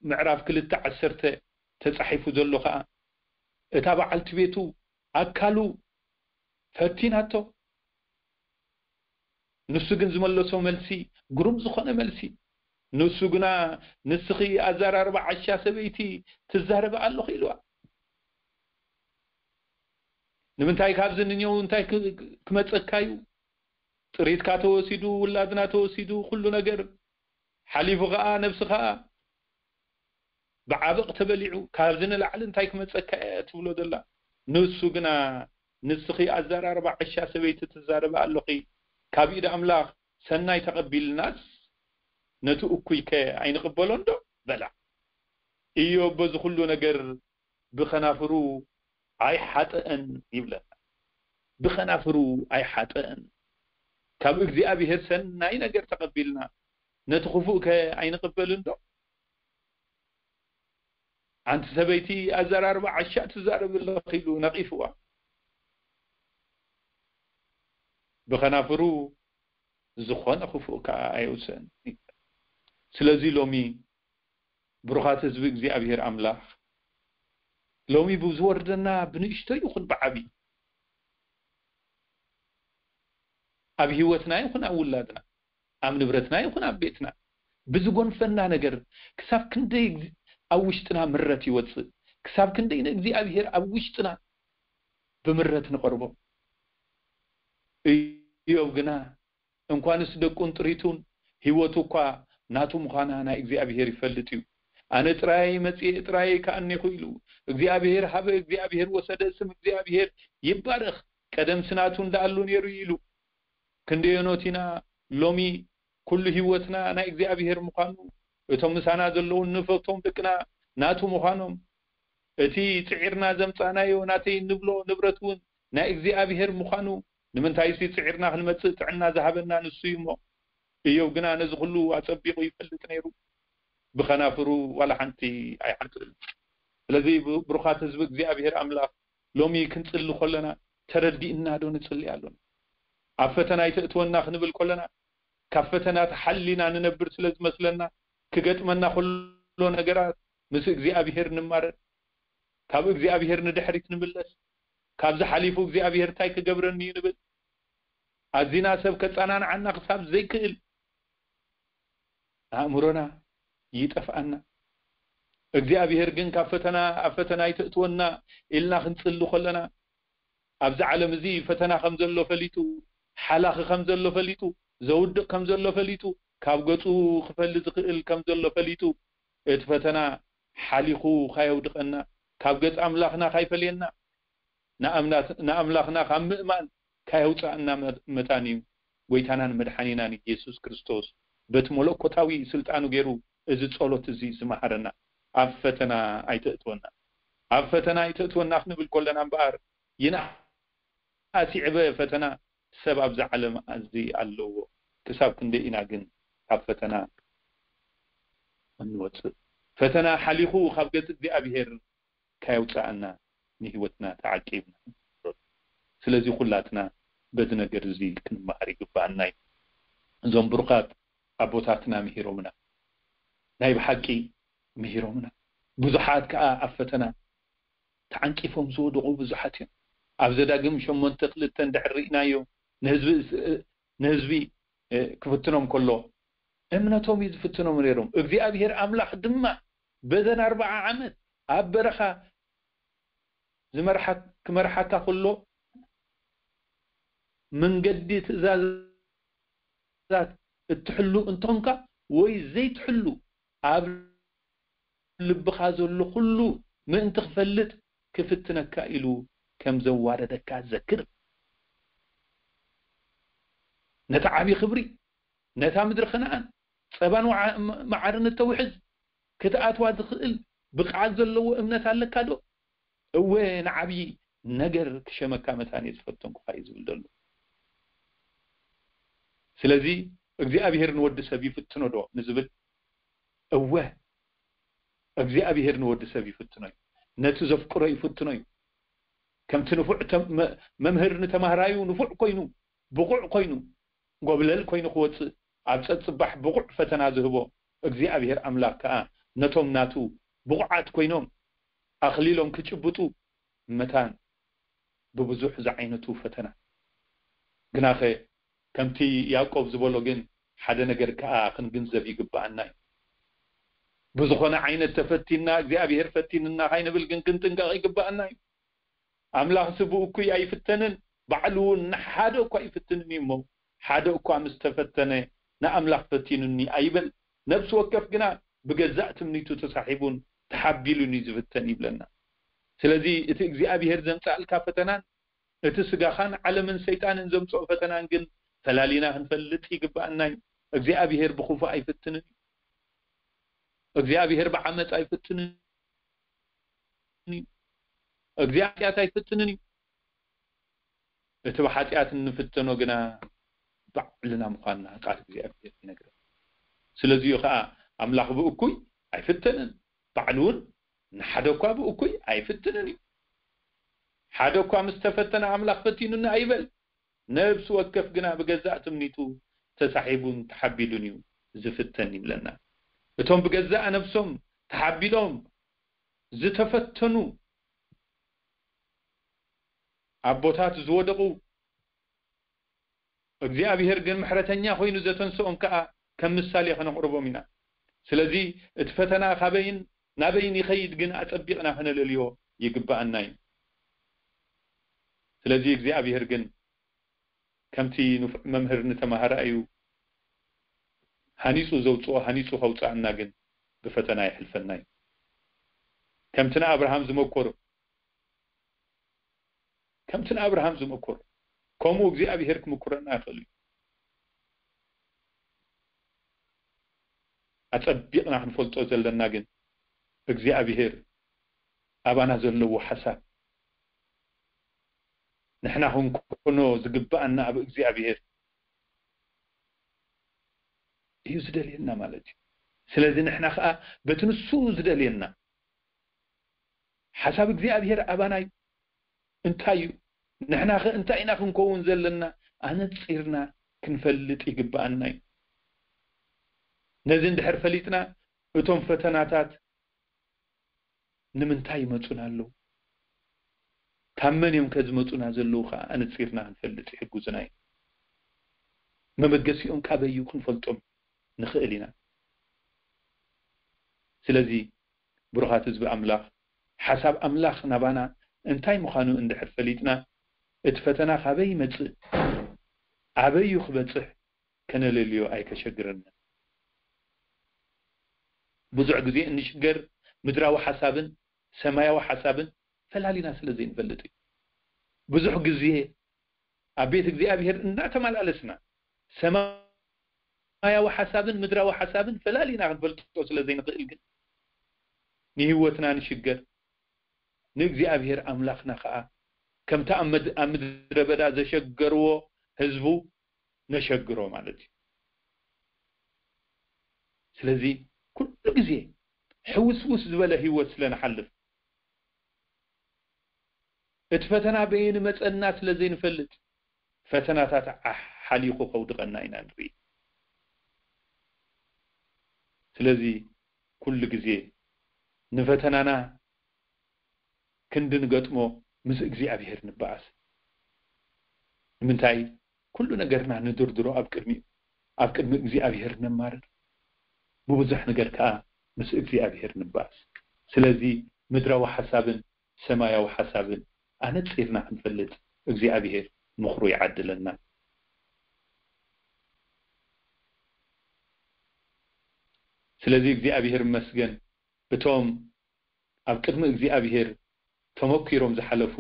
ምዕራፍ ክልተ ዓሰርተ ተጻሒፉ ዘሎ ኸኣ፣ እታ በዓልቲ ቤቱ ኣካሉ ፈቲናቶ፣ ንሱ ግን ዝመለሶ መልሲ ግሩም ዝኾነ መልሲ። ንሱ ግና፣ "ንስኺ ኣዘራርባ ዓሻ ሰበይቲ ትዛረቢ ኣለኺ" ኢልዋ። "ንምንታይ ካብዚ ንኔው እንታይ ክ-፣ ክመጸካ እዩ? ጥሪትካ ተወሲዱ፣ ውላድና ተወሲዱ፣ ኩሉ ነገር ሓሊፉ ኸኣ ነብስኻ ብዓበቕ ተበሊዑ፣ ካብዚ ንላዕሊ እንታይ ክመጸካ እየ?" ትብሎ ዘላ። ንሱ ግና፣ "ንስኺ ኣዘራርባ ዓሻ ሰበይቲ ትዛረቢ ኣለኺ፣ ካብ ኢድ ኣምላኽ ሰናይ ተቐቢልናስ፣ ነቲ እኩይከ ኣይንቕበሎን ዶ?" በላ። ኢዮብ በዚ ኩሉ ነገር ብኸናፍሩ ኣይሓጠአን ይብለና። ብኸናፍሩ ኣይሓጠአን። ካብ እግዚኣብሔር ሰናይ ነገር ተቐቢልና፣ ነቲ ክፉእከ ኣይንቕበልን ዶ? "ኣንቲ ሰበይቲ ኣዘራርባ ዓሻ ትዛረቢ ኣለኺ" ኢሉ ነቒፍዋ። ብኸናፍሩ ዝኾነ ክፉእ ከኣ ኣየውፅእን። ስለዚ ሎሚ ብሩኻት ህዝቢ እግዚኣብሔር ኣምላኽ፣ ሎሚ ብዝወርደና ብንእሽቶ ይኹን ብዓቢ፣ ኣብ ህይወትና ይኹን ኣብ ውላድና፣ ኣብ ንብረትና ይኹን ኣብ ቤትና፣ ብዝጎንፈና ነገር ክሳብ ክንደይ ኣብ ውሽጥና ምረት ይወጽእ? ክሳብ ክንደይ ንእግዚኣብሔር ኣብ ውሽጥና ብምረት ንቐርቦ? እዮብ ግና እንኳንስ ደቁን ጥሪቱን፣ ህይወቱ እኳ ናቱ ምዃና ናይ እግዚኣብሔር ይፈልጥ እዩ። "ኣነ ጥራይ መጺኤ ጥራይ ከኣኔኹ" ኢሉ፣ "እግዚኣብሔር ሃበ፣ እግዚኣብሔር ወሰደ፣ ስም እግዚኣብሔር ይባረኽ፣ ቀደምሲ ናቱ እንዳኣሉ ነይሩ" ኢሉ። ክንደየኖት ኢና ሎሚ ኩሉ ህይወትና ናይ እግዚኣብሔር ምዃኑ፣ እቶም ምሳና ዘለውን ንፈቶም ደቅና ናቱ ምዃኖም፣ እቲ ጽዒርና ዘምጻእናዮ ናተይ እንብሎ ንብረት እውን ናይ እግዚኣብሔር ምዃኑ፣ ንምንታይሲ ጽዒርና ክንመጽእ ጥዕና ዝሃበና ንሱ እዩ እሞ። እዮብ ግና ነዚ ኩሉ ኣጸቢቑ ይፈልጥ ነይሩ። ብኸናፍሩ ዋላ ሓንቲ ኣይሓጥእን። ስለዚ ብ-፣ ብሩኻት ህዝቢ እግዚኣብሔር ኣምላኽ፣ ሎሚ ክንጽሊ ከለና ተረዲእና ዶ ንጽሊ ኣሎና? ኣብ ፈተና ኣይተእትወና ክንብል ከለና፣ ካብ ፈተና ተሓሊና ንነብር ስለ ዝመስለና፣ ክገጥመና ከሎ ነገራት ምስ እግዚኣብሔር ንማረር፣ ካብ እግዚኣብሔር ንድሕሪት ንምለስ፣ ካብዚ ሓሊፉ እግዚኣብሔር እንታይ ክገብረኒ እዩ ንብል። ኣዚና ሰብ ከጸናንዓና ክሳብ ዘይክእል ኣእምሮና ይጠፍኣና። እግዚኣብሔር ግን ካብ ፈተና፣ ኣብ ፈተና ኣይተእትወና ኢልና ክንጽሊ ከለና፣ ኣብዚ ዓለም እዚ ፈተና ከም ዘሎ ፈሊጡ፣ ሓላኺ ከም ዘሎ ፈሊጡ፣ ዘውድቕ ከም ዘሎ ፈሊጡ፣ ካብ ገጹ ክፈሊ ዝኽእል ከም ዘሎ ፈሊጡ፣ እቲ ፈተና ሓሊኹ ካየውድቐና፣ ካብ ገጽ ኣምላኽና ካይፈልየና፣ ንኣምናት-፣ ንኣምላኽና ካብ ምእማን ካየውጽኣና መ-፣ መታን እዩ ጎይታናን መድሓኒናን ኢየሱስ ክርስቶስ በቲ መለኮታዊ ስልጣኑ ገይሩ እዚ ጸሎት እዚ ዝመሃረና። ኣብ ፈተና ኣይተእትወና፣ ኣብ ፈተና ኣይተእትወና ክንብል ከለና እምበኣር፣ ይንኣስ ይዕበ ፈተና ሰብ ኣብዚ ዓለም እዚ ኣለዎ። ክሳብ ክንደይ ኢና ግን ካብ ፈተና እንወፅእ? ፈተና ሓሊኹ ካብ ገጽ እግዚኣብሔር ካየውፅኣና ንህይወትና ተዓቂብና። ስለዚ ኩላትና በዚ ነገር እዚ ክንመሃር ይግባኣና እዩ። እዞም ብሩኻት ኣቦታትና ምሂሮምና፣ ናይ ብሓቂ ምሂሮምና። ብዙሓት ከዓ ኣብ ፈተና ተዓንቂፎም ዝወደቑ ብዙሓት እዮም። ኣብ ዘዳግም ሸሞንተ ክልተ እንድሕር ርኢናዮ ንህዝቢ ንህዝቢ ክፍትኖም ከሎ እምነቶም እዩ ዝፍትኖም ነይሮም። እግዚኣብሔር ኣምላኽ ድማ በዘን ኣርባዓ ዓመት ኣብ በረኻ ዝመርሓ ክመርሓካ ከሎ መንገዲ ትእዛዛት እትሕሉ እንተኾንካ ወይ ዘይትሕሉ ኣብ ልብኻ ዘሎ ኩሉ ምእንቲ ክፈልጥ ክፍትነካ ኢሉ ከም ዘዋረደካ ዘክር። ነቲ ዓቢ ክብሪ፣ ነታ ምድሪ ከነኣን ጸባን ወዓ- መዓርን እተውሕዝ ክትኣትዋ ዝኽእል ብቕዓት ዘለዎ እምነት ኣለካ ዶ? እወ ንዓብዪ ነገር ክሸመካ መታን እየ ዝፈተንኩኻ እዩ ዝብል ዘሎ። ስለዚ እግዚኣብሔር ንወዲ ሰብ ይፍትኖ ዶ ንዝብል፣ እወ እግዚኣብሔር ንወዲ ሰብ ይፍትኖ እዩ። ነቲ ዘፍቅሮ ይፍትኖ እዩ። ከምቲ ንፉዕ ተም- መ- መምህር ንተማሃራዩ ንፉዕ ኮይኑ ብቑዕ ኮይኑ ጎብለል ኮይኑ ክወፅእ ኣብ ፀፅባሕ ብቑዕ ፈተና ዝህቦ እግዚኣብሔር ኣምላኽ ከዓ ነቶም ናቱ ብቑዓት ኮይኖም ኣኽሊሎም ክጭብጡ መታን ብብዙሕ ዝዓይነቱ ፈተና። ግናኸ ከምቲ ያዕቆብ ዝበሎ ግን ሓደ ነገር ከዓ ክንግንዘብ ይግብኣና እዩ። ብዝኾነ ዓይነት ተፈቲንና እግዚኣብሔር ፈቲንና ካይንብል ግን ክንጥንቀቕ ይግብኣና እዩ። ኣምላኽሲ ብእኩይ ኣይፍተንን፣ ባዕሉ እውን ንሓደ እኳ ኣይፍትንን እዩ እሞ፣ ሓደ እኳ ምስ ተፈተነ ንኣምላኽ ፈቲኑኒ ኣይበል። ነፍሲ ወከፍ ግና ብገዛእ ትምኒቱ ተሳሒቡን ተሓቢሉን እዩ ዝፍተን ይብለና። ስለዚ እቲ እግዚኣብሔር ዘምፅኣልካ ፈተናን እቲ ስጋኻን ዓለምን ሰይጣንን ዘምፅኦ ፈተናን ግን ፈላሊና ክንፈልጥ ይግብኣና እዩ። እግዚኣብሔር ብኽፉእ ኣይፍትንን እዩ። እግዚኣብሔር ብዓመፅ ኣይፍትንን እዩ። እግዚኣብሔር ኣይፍትንን እዩ። እቲ ብሓጢኣት እንፍተኖ ግና ባዕልና ምዃንና ቃል እግዚኣብሔር ይነግረን። ስለዚዩ ከዓ ኣምላኽ ብእኩይ ኣይፍተንን፣ ባዕሉ እውን ንሓደ እኳ ብእኩይ ኣይፍትንን እዩ። ሓደ እኳ ምስ ተፈተነ ኣምላኽ ፈቲኑኒ ኣይበል። ነብሲ ወከፍ ግና ብገዛእ ትምኒቱ ተሳሒቡን ተሓቢሉን እዩ ዝፍተን ይብለና። እቶም ብገዛእ ነብሶም ተሓቢሎም ዝተፈተኑ ኣቦታት ዝወደቑ እግዚኣብሔር ግን ምሕረተኛ ኮይኑ ዘተንስኦም ከዓ ከም ምሳሌ ከነቕርቦም ኢና። ስለዚ እቲ ፈተና ካበይን ናበይን ይኸይድ ግን ኣጸቢቕና ከነለልዮ ይግብኣና እዩ። ስለዚ እግዚኣብሔር ግን ከምቲ ንፉዕ መምህር ንተማሃራዩ ሃኒፁ ዘውፅኦ ሃኒፁ ከውፅኣና ግን ብፈተና የሕልፈና እዩ። ከምቲ ንኣብርሃም ዝመኮሮ ከምቲ ንኣብርሃም ዝመኮሮ ከምኡ እግዚኣብሔር ክምኩረና ይኽእል እዩ። ኣጸቢቕና ክንፈልጦ ዘለና ግን እግዚኣብሔር ኣባና ዘለዎ ሓሳብ ንሕና ክንኮኖ ዝግብኣና ኣብ እግዚኣብሔር እዩ ዝደልየና ማለት እዩ። ስለዚ ንሕና ከዓ በቲ ንሱ ዝደልየና ሓሳብ እግዚኣብሔር ኣባና እዩ። እንታይ እዩ? ንሕና ኸ እንታይ ኢና ክንከውን ዘለና? ኣነጺርና ክንፈልጥ ይግብኣና እዩ። ነዚ እንድሕር ፈሊጥና እቶም ፈተናታት ንምንታይ ይመጹና ኣለዉ? ካብ መን እዮም ከ ዝመጹና ዘለዉ ኸዓ ኣነጺርና ክንፈልጥ ይሕግዙና እዩ። መበገሲኦም ካበይ እዩ ክንፈልጦም ንኽእል ኢና። ስለዚ ብሩኻት ህዝቢ ኣምላኽ ሓሳብ ኣምላኽ ናባና እንታይ ምዃኑ እንድሕር ፈሊጥና እቲ ፈተና ካበይ ይመጽእ ኣበይ እዩ ክበጽሕ ከነለልዮ ኣይከሸግረና። ብዙሕ ግዜ እንሽገር ምድራዊ ሓሳብን ሰማያዊ ሓሳብን ፈላሊና ስለ ዘይንፈልጥ እዩ። ብዙሕ ግዜ ኣብ ቤት እግዚኣብሔር እናተመላለስና ሰማያዊ ሓሳብን ምድራዊ ሓሳብን ፈላሊና ክንፈልጦ ስለ ዘይንኽእል ግን ንህይወትና ንሽገር፣ ንእግዚኣብሔር ኣምላኽና ኸዓ ከምቲ ኣብ ምድ- ኣብ ምድረ በዳ ዘሸገርዎ ህዝቡ ነሸግሮ ማለት እዩ። ስለዚ ኩሉ ግዜ ሕውስውስ ዝበለ ህይወት ስለ ንሓልፍ፣ እቲ ፈተና በየን መጸና ስለ ዘይንፈልጥ፣ ፈተናታት ሓ- ሓሊኹ ከውድቐና ኢና ንርኢ። ስለዚ ኩሉ ግዜ ንፈተናና ክንዲ ንገጥሞ ምስ እግዚኣብሔር ንበኣስ። ንምንታይ? ኩሉ ነገርና ንድርድሮ ኣብ ቅድሚኡ፣ ኣብ ቅድሚ እግዚኣብሔር ነማርር፣ ብብዙሕ ነገር ከኣ ምስ እግዚኣብሔር ንበኣስ። ስለዚ ምድራዊ ሓሳብን ሰማያዊ ሓሳብን ኣነጺርና ክንፈልጥ እግዚኣብሔር ምኽሩ ይዓድለና። ስለዚ እግዚኣብሔር ይመስገን፣ እቶም ኣብ ቅድሚ እግዚኣብሔር ተመኪሮም ዝሓለፉ፣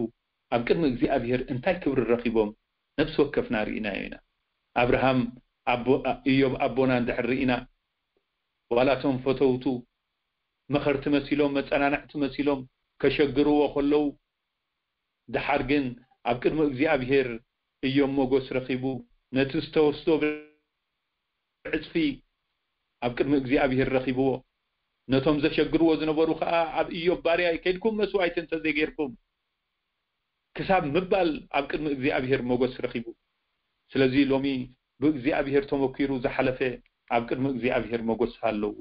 ኣብ ቅድሚ እግዚኣብሔር እንታይ ክብሪ ረኺቦም ነፍሲ ወከፍና ርኢናዮ ኢና። ኣብርሃም ኣቦ- እዮብ ኣቦና እንድሕር ርኢና፣ ዋላ እቶም ፈተውቱ መኸርቲ መሲሎም፣ መጸናንዕቲ መሲሎም ከሸግርዎ ከለዉ፣ ደሓር ግን ኣብ ቅድሚ እግዚኣብሔር እዮም ሞገስ ረኺቡ፣ ነቲ ዝተወስዶ ብዕጽፊ ኣብ ቅድሚ እግዚኣብሔር ረኺብዎ። ነቶም ዘሸግርዎ ዝነበሩ ከኣ ኣብ እዮብ ባርያ ከይድኩም መስዋዕቲ እንተዘይጌርኩም፣ ክሳብ ምባል ኣብ ቅድሚ እግዚኣብሔር ሞገስ ረኺቡ። ስለዚ ሎሚ ብእግዚኣብሔር ተመኪሩ ዝሓለፈ ኣብ ቅድሚ እግዚኣብሔር ሞገስ ኣለዎ።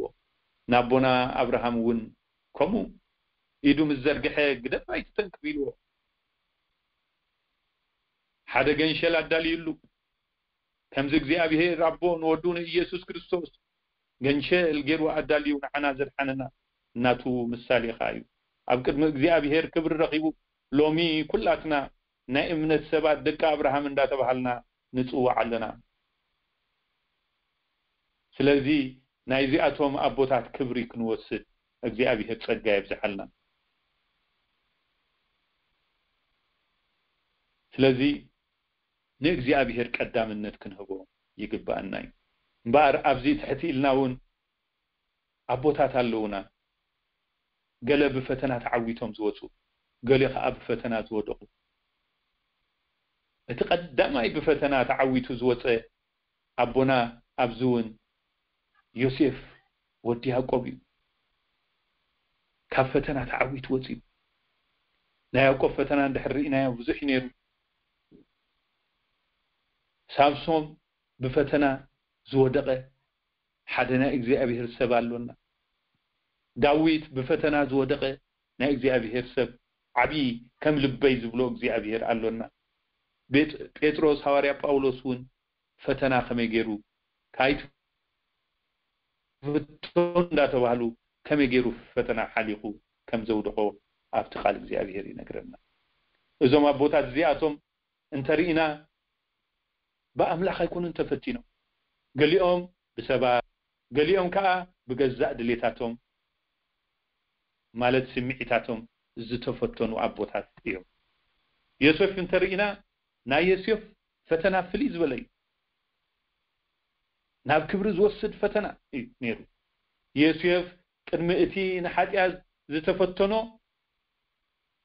ንኣቦና ኣብርሃም እውን ከምኡ ኢዱ ምስ ዘርግሐ፣ "ግደፍ ኣይትተንክፍ" ኢልዎ። ሓደ ገንሸል ኣዳልዩሉ። ከምዚ እግዚኣብሔር ኣቦ ንወዱ ንኢየሱስ ክርስቶስ ገንሸል ገይሩ ኣዳልዩ ንዓና ዘድሓነና ናቱ ምሳሌ ኸኣ እዩ። ኣብ ቅድሚ እግዚኣብሔር ክብሪ ረኺቡ፣ ሎሚ ኩላትና ናይ እምነት ሰባት ደቂ ኣብርሃም እንዳተባሃልና ንጽዋዕ ኣለና። ስለዚ ናይዚኣቶም ኣቦታት ክብሪ ክንወስድ እግዚኣብሔር ጸጋ የብዝሓልና። ስለዚ ንእግዚኣብሔር ቀዳምነት ክንህቦ ይግብኣና እዩ። እምበኣር ኣብዚ ትሕቲ ኢልና እውን ኣቦታት ኣለውና። ገለ ብፈተና ተዓዊቶም ዝወፁ፣ ገለ ከዓ ብፈተና ዝወደቑ። እቲ ቀዳማይ ብፈተና ተዓዊቱ ዝወፀ ኣቦና ኣብዚ እውን ዮሴፍ ወዲ ያዕቆብ እዩ። ካብ ፈተና ተዓዊቱ ወፂኡ። ናይ ያዕቆብ ፈተና እንድሕር ርኢናዮ ብዙሕ እዩ ነይሩ። ሳምሶም ብፈተና ዝወደቐ ሓደ ናይ እግዚኣብሔር ሰብ ኣሎና። ዳዊት ብፈተና ዝወደቐ ናይ እግዚኣብሔር ሰብ፣ ዓብዪ ከም ልበይ ዝብሎ እግዚኣብሔር ኣሎና። ቤጥ- ጴጥሮስ፣ ሃዋርያ ጳውሎስ እውን ፈተና ከመይ ገይሩ ካይትፍተኑ እንዳተባህሉ ከመይ ገይሩ ፈተና ሓሊኹ ከም ዘውደቖ ኣብቲ ቃል እግዚኣብሔር ይነግረና። እዞም ኣቦታት እዚኣቶም እንተርኢና ብኣምላኽ ኣይኮኑን ተፈቲኖም። ገሊኦም ብሰባት፣ ገሊኦም ከዓ ብገዛእ ድሌታቶም ማለት ስምዒታቶም ዝተፈተኑ ኣቦታት እዮም። ዮሴፍ እንተርኢና ናይ ዮሴፍ ፈተና ፍልይ ዝበለ እዩ። ናብ ክብሪ ዝወስድ ፈተና እዩ ነይሩ። ዮሴፍ ቅድሚ እቲ ንሓጢኣት ዝተፈተኖ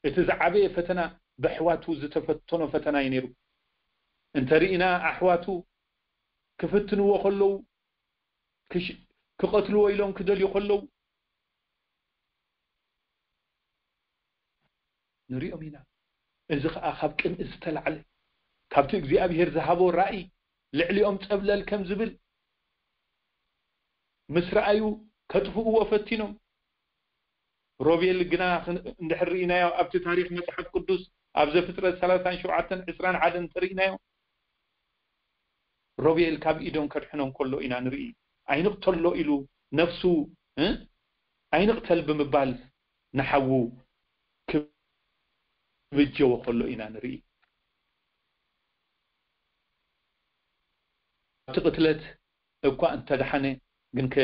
እቲ ዝዓበየ ፈተና ብኣሕዋቱ ዝተፈተኖ ፈተና እዩ ነይሩ። እንተርኢና ኣሕዋቱ ክፍትንዎ ከለዉ፣ ክሽ- ክቐትልዎ ኢሎም ክደልዩ ከለዉ ንሪኦም ኢና። እዚ ኸኣ ካብ ቅንኢ ዝተላዕለ፣ ካብቲ እግዚኣብሔር ዝሃቦ ራእይ ልዕሊኦም ጸብለል ከም ዝብል ምስ ረኣዩ ከጥፍእዎ ፈቲኖም። ሮቤል ግና ክን- እንድሕር ርኢናዮ ኣብቲ ታሪኽ መጽሓፍ ቅዱስ ኣብ ዘፍጥረት ሰላሳን ሸውዓተን ዕስራን ሓደን እንተርኢናዮ ሮቤል ካብ ኢዶም ከድሕኖም ከሎ ኢና ንርኢ። ኣይንቕተሎ ኢሉ ነፍሱ እ? ኣይንቕተል ብምባል ንሓዉ ክብጀዎ ከሎ ኢና ንርኢ። ኣብቲ ቅትለት እኳ እንተደሓነ ግንከ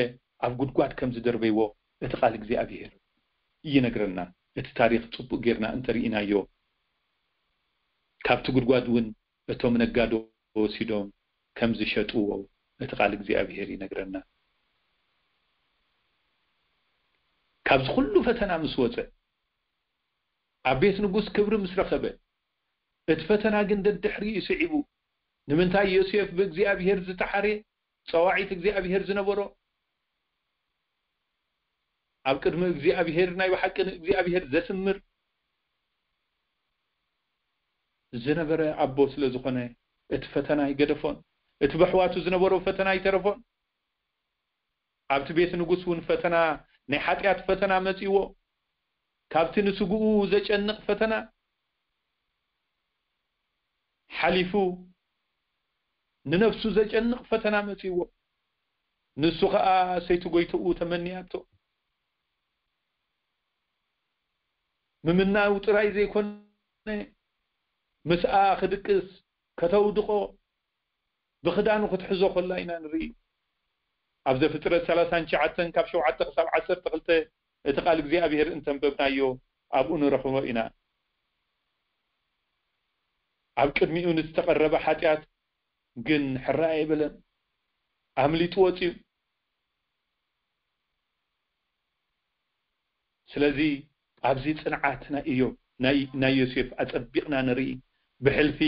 ኣብ ጉድጓድ ከም ዝደርበይዎ እቲ ቃል እግዚኣብሔር ይነግረና። እቲ ታሪኽ ጽቡቅ ጌርና እንተርኢናዮ ካብቲ ጉድጓድ እውን እቶም ነጋዶ ወሲዶም ከም ዝሸጥዎ እቲ ቃል እግዚኣብሔር ይነግረና። ካብዚ ኩሉ ፈተና ምስ ወፀ ኣብ ቤት ንጉስ ክብሪ ምስ ረኸበ እቲ ፈተና ግን ደድሕሪኡ ስዒቡ። ንምንታይ? ዮሴፍ ብእግዚኣብሔር ዝተሓርየ፣ ጸዋዒት እግዚኣብሔር ዝነበሮ፣ ኣብ ቅድሚ እግዚኣብሔር ናይ ብሓቂ ንእግዚኣብሔር ዘስምር ዝነበረ ኣቦ ስለ ዝኾነ፣ እቲ ፈተና ኣይገደፎን። እቲ ብኣሕዋቱ ዝነበሮ ፈተና ኣይተረፎን። ኣብቲ ቤት ንጉስ እውን ፈተና፣ ናይ ሓጢኣት ፈተና መጺእዎ። ካብቲ ንስግኡ ዘጨንቕ ፈተና ሓሊፉ፣ ንነፍሱ ዘጨንቕ ፈተና መጺእዎ። ንሱ ኸኣ ሰይቲ ጎይትኡ ተመንያቶ። ምምናው ጥራይ ዘይኮነ፣ ምስኣ ክድቅስ፣ ከተውድቖ፣ ብኽዳኑ ክትሕዞ ከላ ኢና ንርኢ። ኣብ ዘፍጥረት ሰላሳን ትሽዓተን ካብ ሸውዓተ ክሳብ ዓሰርተ ክልተ እቲ ቃል እግዚኣብሔር እንተንበብናዮ ኣብኡ ንረኽቦ ኢና። ኣብ ቅድሚኡ ንዝተቐረበ ሓጢኣት ግን ሕራይ ኣይበለን፣ ኣምሊጡ ወጺኡ። ስለዚ ኣብዚ ጽንዓት ናይ ኢዮብ፣ ናይ፣ ናይ ዮሴፍ ኣጸቢቕና ንርኢ። ብሕልፊ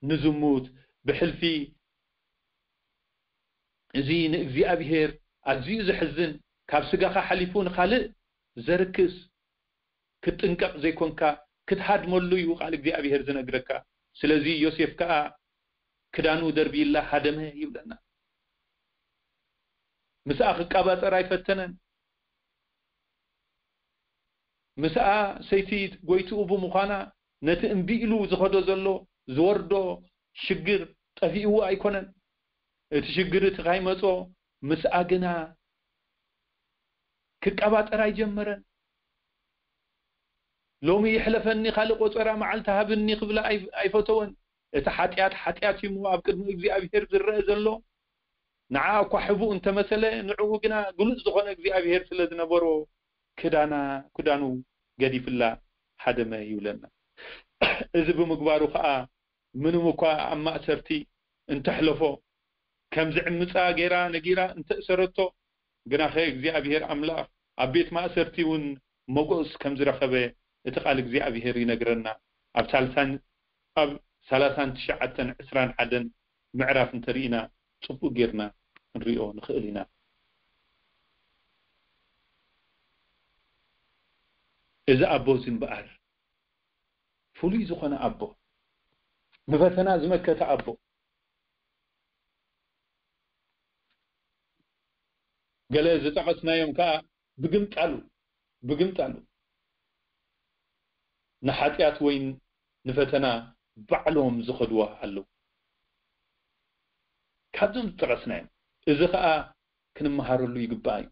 ንዝሙት፣ ብሕልፊ እዚ ንእግዚኣብሔር ኣዝዩ ዘሕዝን፣ ካብ ስጋኻ ሓሊፉ ንኻልእ ዘርክስ፣ ክትጥንቀቕ ዘይኮንካ ክትሃድመሉ እዩ ቃል እግዚኣብሔር ዝነግረካ። ስለዚ ዮሴፍ ከኣ ክዳኑ ደርቢላ ሃደመ ይብለና። ምስኣ ክቃባጸር ኣይፈተነን። ምስኣ ሰይቲ ጎይትኡ ብምዃና ነቲ እምቢ ኢሉ ዝኸዶ ዘሎ ዝወርዶ ሽግር ጠፊእዎ ኣይኮነን። እቲ ሽግር እቲ ካይመጾ ምስኣ ግና ክቀባጠር ኣይጀመረን። ሎሚ ይሕለፈኒ፣ ካልእ ቆጸራ መዓልቲ ሃብኒ ክብላ ኣይ-፣ ኣይፈተወን። እቲ ሓጢኣት ሓጢኣት እዩ እሞ ኣብ ቅድሚ እግዚኣብሔር ዝረአ ዘሎ። ንዓ እኳ ሕቡእ እንተመሰለ፣ ንዕኡ ግና ግሉጽ ዝኾነ እግዚኣብሔር ስለ ዝነበሮ፣ ክዳና፣ ክዳኑ ገዲፍላ ሃደመ ይብለና። እዚ ብምግባሩ ኸኣ፣ ምንም እኳ ኣብ ማእሰርቲ እንተሕለፎ፣ ከም ዝዕምጻ ገይራ ነጊራ እንተእሰረቶ፣ ግናኸ እግዚኣብሔር ኣምላኽ ኣብ ቤት ማእሰርቲ እውን ሞገስ ከም ዝረኸበ እቲ ቃል እግዚኣብሔር ይነግረና። ኣብ ሳልሳን፣ ኣብ ሰላሳን ትሽዓተን ዕስራን ሓደን ምዕራፍ እንተርኢና፣ ጽቡቕ ጌርና ክንሪኦ ንኽእል ኢና። እዚ ኣቦ እዚ እምበኣር፣ ፍሉይ ዝኾነ ኣቦ፣ ንፈተና ዝመከተ ኣቦ። ገለ ዝጠቐስናዮም ከኣ ብግምጣሉ፣ ብግምጣሉ ንሓጢኣት ወይ ንፈተና ባዕሎም ዝኸድዋ ኣለዉ። ካብዞም ዝጠቐስናዮም፣ እዚ ኸኣ ክንመሃረሉ ይግባእ እዩ።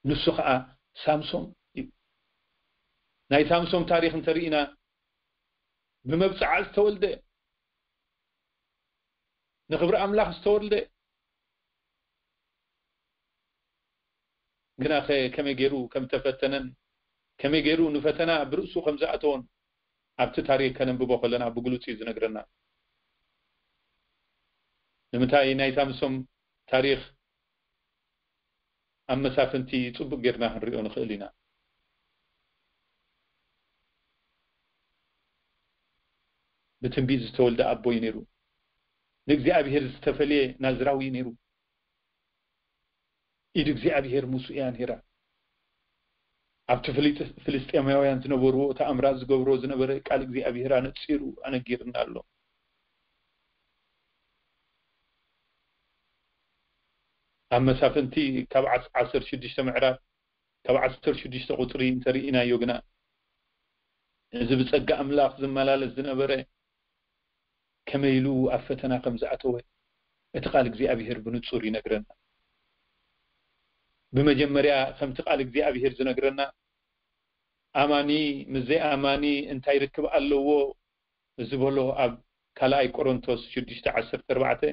ንሱ ኸኣ ሳምሶም እዩ። ናይ ሳምሶም ታሪኽ እንተርኢና፣ ብመብጽዓ ዝተወልደ፣ ንኽብሪ ኣምላኽ ዝተወልደ፣ ግናኸ ከመይ ገይሩ ከም ዝተፈተነን ከመይ ገይሩ ንፈተና ብርእሱ ከም ዝኣተወን ኣብቲ ታሪኽ ከነንብቦ ከለና ብግሉጽ እዩ ዝነግረና። ንምንታይ? ናይ ሳምሶም ታሪኽ ኣብ መሳፍንቲ ጽቡቕ ጌርና ክንሪኦ ንኽእል ኢና። ብትንቢት ዝተወልደ ኣቦ እዩ ነይሩ። ንእግዚኣብሔር ዝተፈልየ ናዝራዊ እዩ ነይሩ። ኢድ እግዚኣብሔር ምስኡ እያ ነይራ። ኣብቲ ፍሊጥ-፣ ፍልስጤማውያን ዝነበርዎ ተኣምራት ዝገብሮ ዝነበረ ቃል እግዚኣብሔር ኣነጺሩ ኣነጊርና ኣሎ። ኣብ መሳፍንቲ ካብ ዓስ-፣ ዓሰርተ ሽዱሽተ ምዕራፍ፣ ካብ ዓሰርተ ሽዱሽተ ቁጽሪ እንተርኢናዮ ግና፣ እዚ ብጸጋ ኣምላኽ ዝመላለስ ዝነበረ ከመይ ኢሉ ኣብ ፈተና ከም ዝኣተወ እቲ ቃል እግዚኣብሔር ብንጹር ይነግረና። ብመጀመርያ ከምቲ ቃል እግዚኣብሔር ዝነግረና፣ ኣማኒ ምስ ዘይኣማኒ እንታይ ርክብ ኣለዎ ዝበሎ ኣብ ካልኣይ ቆሮንቶስ ሽዱሽተ ዓሰርተ ኣርባዕተ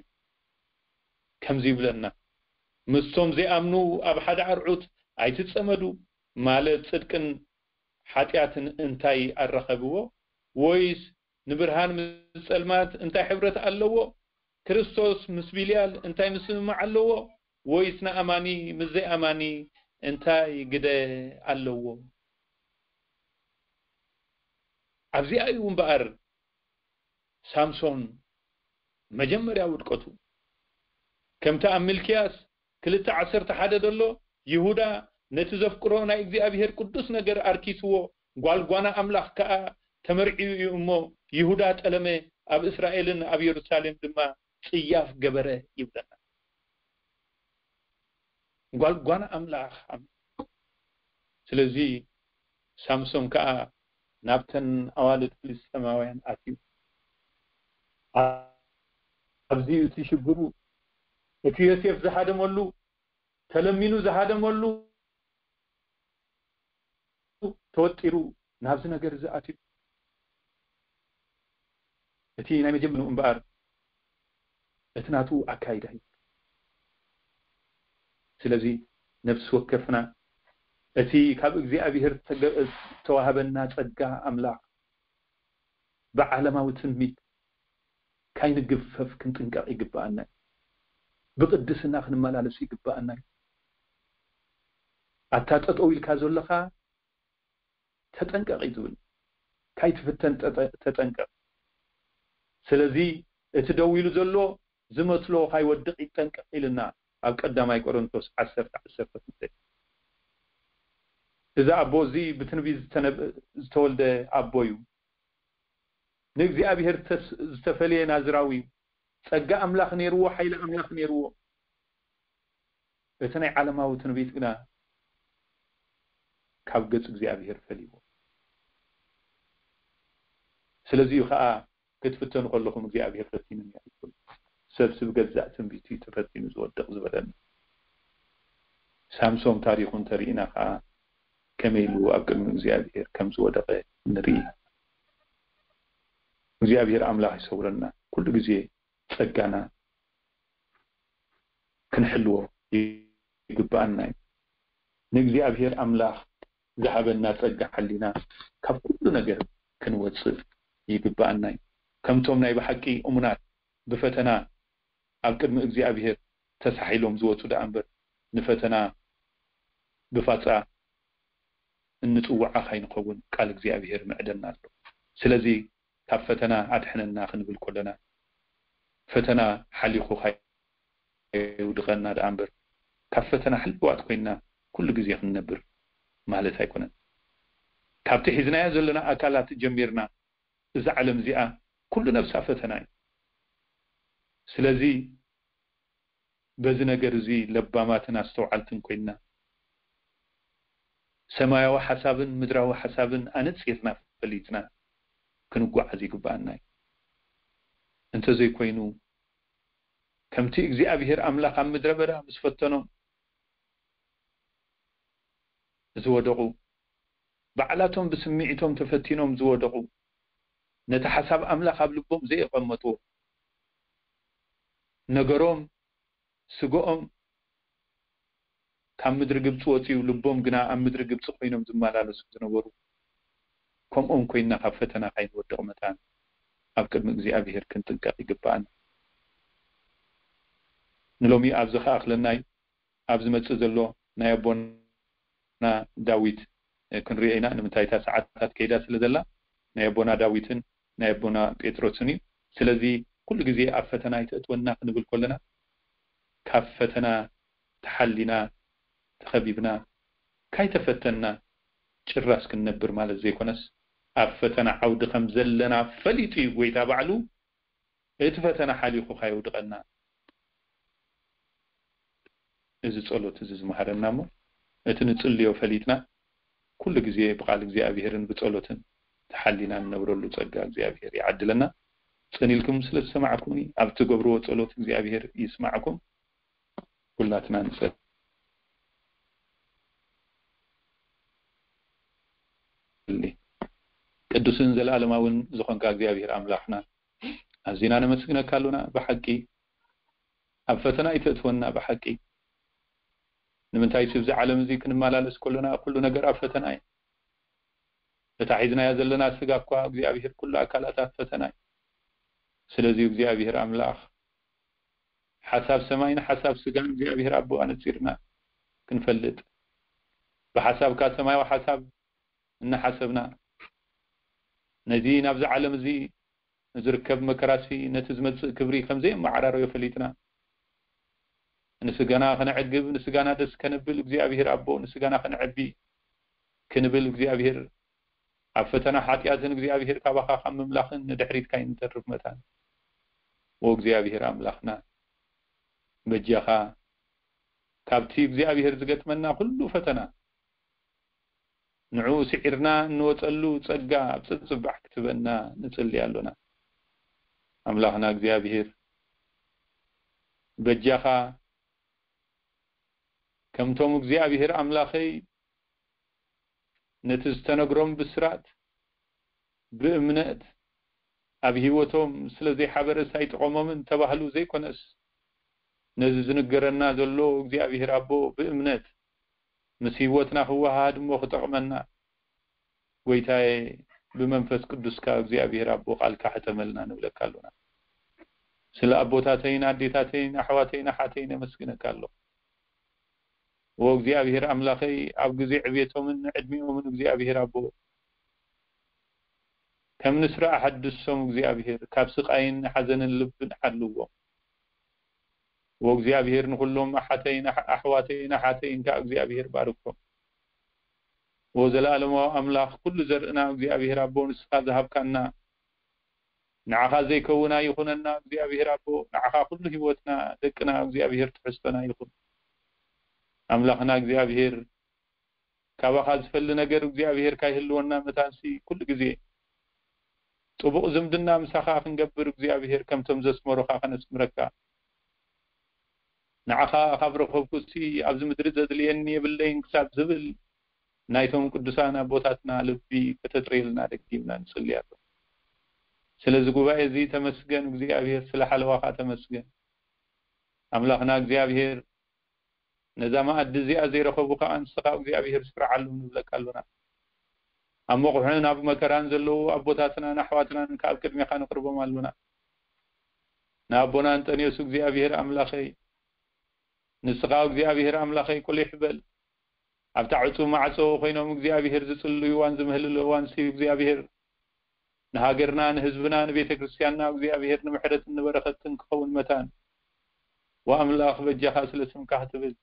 ከምዚ ይብለና፣ ምስቶም ዘይኣምኑ ኣብ ሓደ ኣርዑት ኣይትጸመዱ፣ ማለት ጽድቅን ሓጢኣትን እንታይ ኣራኸብዎ? ወይስ ንብርሃን ምስ ጸልማት እንታይ ሕብረት ኣለዎ? ክርስቶስ ምስ ቢልያል እንታይ ምስምማዕ ኣለዎ? ወይስ ንኣማኒ ምስ ዘይኣማኒ እንታይ ግደ ኣለዎ? ኣብዚኣ እዩ እምበኣር ሳምሶን መጀመርያ ውድቀቱ። ከምቲ ኣብ ሚልክያስ ክልተ ዓሰርተ ሓደ ዘሎ፣ ይሁዳ ነቲ ዘፍቅሮ ናይ እግዚኣብሔር ቅዱስ ነገር ኣርኪስዎ፣ ጓል ጓና ኣምላኽ ከኣ ተመርዕዩ እዩ እሞ፣ ይሁዳ ጠለመ፣ ኣብ እስራኤልን ኣብ የሩሳሌም ድማ ጽያፍ ገበረ ይብለና። ጓል ጓና ኣምላኽ ኣም-፣ ስለዚ ሳምሶን ከኣ ናብተን ኣዋልድ ፍልስጤማውያን ኣትዩ። ኣ-፣ ኣብዚ እቲ ሽግሩ፣ እቲ ዮሴፍ ዝሃደመሉ፣ ተለሚኑ ዝሃደመሉ፣ ተወጢሩ ናብዚ ነገር እዚ ኣትዩ። እቲ ናይ መጀመርያኡ እምበኣር እቲ ናቱ ኣካይዳ እዩ። ስለዚ ነፍሲ ወከፍና እቲ ካብ እግዚኣብሔር ተገ-፣ ዝተዋህበና ጸጋ ኣምላኽ ብዓለማዊ ትምኒት ካይንግፈፍ ክንጥንቀቕ ይግብኣና እዩ። ብቕድስና ክንመላለስ ይግብኣና እዩ። ኣታ ጠጠው ኢልካ ዘለኻ ተጠንቀቕ እዩ ዝብል። ካይትፍተን ጠጠ-፣ ተጠንቀቕ። ስለዚ እቲ ደው ኢሉ ዘሎ ዝመስሎ ካይወድቕ ይጠንቀቕ ኢልና ኣብ ቀዳማይ ቆሮንቶስ ዓሰርተ ዓሰርተ ክልተ። እዚ ኣቦ እዚ ብትንቢት ዝተነብ-፣ ዝተወልደ ኣቦ እዩ። ንእግዚኣብሔር ተስ-፣ ዝተፈልየ ናዝራዊ እዩ። ጸጋ ኣምላኽ ነይርዎ፣ ሓይሊ ኣምላኽ ነይርዎ። እቲ ናይ ዓለማዊ ትንቢት ግና ካብ ገጽ እግዚኣብሔር ፈልይዎ። ስለዚ እዩ ኸኣ ክትፍተኑ ከለኹም እግዚኣብሔር ፈቲኑኒ ኣይትበሉ። ሰብሲ ብገዛእ ትንቢቱ እዩ ተፈቲኑ ዝወድቕ ዝበለና። ሳምሶን ታሪኹ እንተርኢና ኸኣ ከመይ ኢሉ ኣብ ቅድሚ እግዚኣብሔር ከም ዝወደቐ ንርኢ። እግዚኣብሔር ኣምላኽ ይሰውረና። ኩሉ ግዜ ጸጋና ክንሕልዎ ይግብኣና እዩ። ንእግዚኣብሔር ኣምላኽ ዝሃበና ጸጋ ሓሊና ካብ ኩሉ ነገር ክንወጽእ ይግብኣና እዩ። ከምቶም ናይ ብሓቂ እሙናት ብፈተና ኣብ ቅድሚ እግዚኣብሔር ተሳሒሎም ዝወጹ ደኣ እምበር፣ ንፈተና ብፋጻ እንጽውዓ ካይንኸውን ቃል እግዚኣብሔር ምዕደና ኣሎ። ስለዚ ካብ ፈተና ኣድሕነና ክንብል ከለና፣ ፈተና ሓሊኹ ካየውድቐና ደኣ እምበር፣ ካብ ፈተና ሕልዋት ኮይንና ኩሉ ግዜ ክንነብር ማለት ኣይኮነን። ካብቲ ሒዝናዮ ዘለና ኣካላት ጀሚርና፣ እዛ ዓለም እዚኣ ኩሉ ነብሳ ፈተና እዩ። ስለዚ በዚ ነገር እዚ ለባማትን ኣስተውዓልትን ኮይንና፣ ሰማያዊ ሓሳብን ምድራዊ ሓሳብን ኣነጺርና ፈሊጥና ክንጓዓዝ ይግብኣና እዩ። እንተዘይኮይኑ፣ ከምቲ እግዚኣብሔር ኣምላኽ ኣብ ምድረ በዳ ምስ ፈተኖም ዝወደቑ፣ ባዕላቶም ብስምዒቶም ተፈቲኖም ዝወደቑ፣ ነቲ ሓሳብ ኣምላኽ ኣብ ልቦም ዘየቐመጥዎ፣ ነገሮም፣ ስግኦም ካብ ምድሪ ግብጺ ወጺኡ፣ ልቦም ግና ኣብ ምድሪ ግብጺ ኮይኖም ዝመላለሱ ዝነበሩ፣ ከምኦም ኮይንና ካብ ፈተና ካይንወድቕ መታን ኣብ ቅድሚ እግዚኣብሔር ክንጥንቀቕ ይግብኣና። ንሎሚ ኣብዚ ክኣኽለና እዩ። ኣብ ዝመጽእ ዘሎ ናይ ኣቦና ዳዊት፣ እ፣ ክንሪኦ ኢና። ንምንታይ እታ ሰዓታት ከይዳ ስለ ዘላ፣ ናይ ኣቦና ዳዊትን ናይ ኣቦና ጴጥሮስን እዩ። ስለዚ ኩሉ ግዜ ኣብ ፈተና ኣይተእትወና ክንብል ከለና፣ ካብ ፈተና ተሓሊና፣ ተኸቢብና፣ ካይተፈተንና ጭራስ ክንነብር ማለት ዘይኮነስ፣ ኣብ ፈተና ዓውዲ ከም ዘለና ፈሊጡ እዩ ጎይታ ባዕሉ እቲ ፈተና ሓሊኹ ካየውድቐና። እዚ ጸሎት እዚ ዝመሃረና እሞ፣ እቲ ንጽልዮ ፈሊጥና፣ ኩሉ ግዜ ብቃል እግዚኣብሔርን ብጸሎትን ተሓሊና ንነብረሉ ጸጋ እግዚኣብሔር ይዓድለና። ጸኒልኩም ስለ ዝሰማዕኩምኒ፣ ኣብ ትገብርዎ ጸሎት እግዚኣብሔር ይስማዕኩም። ኩላትና ንጸሊ። ቅዱስን ዘለኣለማውን ዝኾንካ እግዚኣብሔር ኣምላኽና፣ ኣዚና ነመስግነካ ኣሎና። ብሓቂ ኣብ ፈተና ኣይተእትወና። ብሓቂ ንምንታይ፣ ስብዚ ዓለም እዚ ክንመላለስ ከሎና፣ ኩሉ ነገር ኣብ ፈተና እዩ። እታ ሒዝናያ ዘለና ስጋ እኳ፣ እግዚኣብሔር፣ ኩሉ ኣካላታ ፈተና እዩ። ስለዚ እግዚኣብሔር ኣምላኽ፣ ሓሳብ ሰማይን ሓሳብ ስጋን እግዚኣብሔር ኣቦ ኣነጺርና ክንፈልጥ፣ ብሓሳብካ ሰማያዊ ሓሳብ እናሓሰብና፣ ነዚ ናብዚ ዓለም እዚ ንዝርከብ መከራሲ ነቲ ዝመጽእ ክብሪ ከም ዘየመዓራረዮ ፈሊጥና፣ ንስጋና ከነዕግብ፣ ንስጋና ደስ ከነብል እግዚኣብሔር ኣቦ፣ ንስጋና ከነዕቢ ክንብል እግዚኣብሔር ኣብ ፈተና ሓጢኣትን እግዚኣብሔር ካባኻ ካብ ምምላኽን ንድሕሪት ካይንተርፍ መታን። ወእግዚኣብሔር ኣምላኽና በጃኻ ካብቲ እግዚኣብሔር ዝገጥመና ኩሉ ፈተና ንዕኡ ስዒርና እንወጸሉ ጸጋ ኣብ ጽጽባሕ ክትበና ንጽሊ ኣሎና። ኣምላኽና እግዚኣብሔር በጃኻ ከምቶም እግዚኣብሔር ኣምላኸይ ነቲ ዝተነግሮም ብስራት ብእምነት ኣብ ህይወቶም ስለ ዘይሓበረስ ኣይጠቐሞምን ተባህሉ ዘይኮነስ፣ ነዚ ዝንገረና ዘሎ እግዚኣብሔር ኣቦ ብእምነት ምስ ህይወትና ክወሃሃድ እሞ ክጠቕመና፣ ጎይታዬ፣ ብመንፈስ ቅዱስካ እግዚኣብሔር ኣቦ ቃልካ ሕተመልና ንብለካ ኣሎና። ስለ ኣቦታተይን ኣዴታተይን ኣሕዋተይን ኣሓተይን ኣመስግነካ ኣለኹ። ወእግዚኣብሔር ኣምላኸይ፣ ኣብ ግዜ ዕብየቶምን ዕድሚኦምን እግዚኣብሔር ኣቦ፣ ከም ንስራ ኣሐድሶም እግዚኣብሔር፣ ካብ ስቓይን ሓዘንን ልብን ሓልዎም። ወእግዚኣብሔር ንኹሎም ኣሓተይን ኣሕ-፣ ኣሕዋተይን ኣሓተይን ከኣ እግዚኣብሔር ባርኮም። ወዘለኣለማዊ ኣምላኽ ኩሉ ዘርእና እግዚኣብሔር ኣቦ ንስኻ ዝሃብካና፣ ንዓኻ ዘይከውን ኣይኹነና እግዚኣብሔር ኣቦ፣ ንዓኻ ኩሉ ህይወትና ደቅና እግዚኣብሔር ትሕዝቶና ይኹን። ኣምላኽና እግዚኣብሔር ካባኻ ዝፈሊ ነገር እግዚኣብሔር ካይህልወና መታንሲ ኩሉ ግዜ ጽቡቕ ዝምድና ምሳኻ ክንገብር እግዚኣብሔር ከምቶም ዘስመሩኻ ከነስምረካ። ንዓኻ ካብ ረኸብኩሲ ኣብዚ ምድሪ ዘድልየኒ የብለይን ክሳብ ዝብል ናይቶም ቅዱሳን ኣቦታትና ልቢ ከተጥርየልና ደጊምና ንጽሊ ኣሎ። ስለዚ ጉባኤ እዚ ተመስገን እግዚኣብሔር፣ ስለ ሓለዋኻ ተመስገን። ኣምላኽና እግዚኣብሔር ነዛ መኣዲ እዚኣ ዘይረኸቡ ከኣ ንስኻ እግዚኣብሔር ስርዓሉ ንብለካ ኣሎና። ኣብ መቑሕን ኣብ መከራን ዘለዉ ኣቦታትናን ኣሕዋትናን ከኣ ኣብ ቅድሜኻ ነቕርቦም ኣሎና። ንኣቦና እንጠንዮስ እግዚኣብሔር ኣምላኸይ፣ ንስኻ እግዚኣብሔር ኣምላኸይ ቁሊሕ በል። ኣብታ ዕጹው ማዕጾ ኮይኖም እግዚኣብሔር ዝጽልዩ እዋን ዝምህልሉ እዋንሲ እግዚኣብሔር ንሃገርና፣ ንህዝብና፣ ንቤተ ክርስቲያንና እግዚኣብሔር ንምሕረትን ንበረኸትን ክኸውን መታን። ወኣምላኽ በጃኻ ስለ ስምካ ክትብል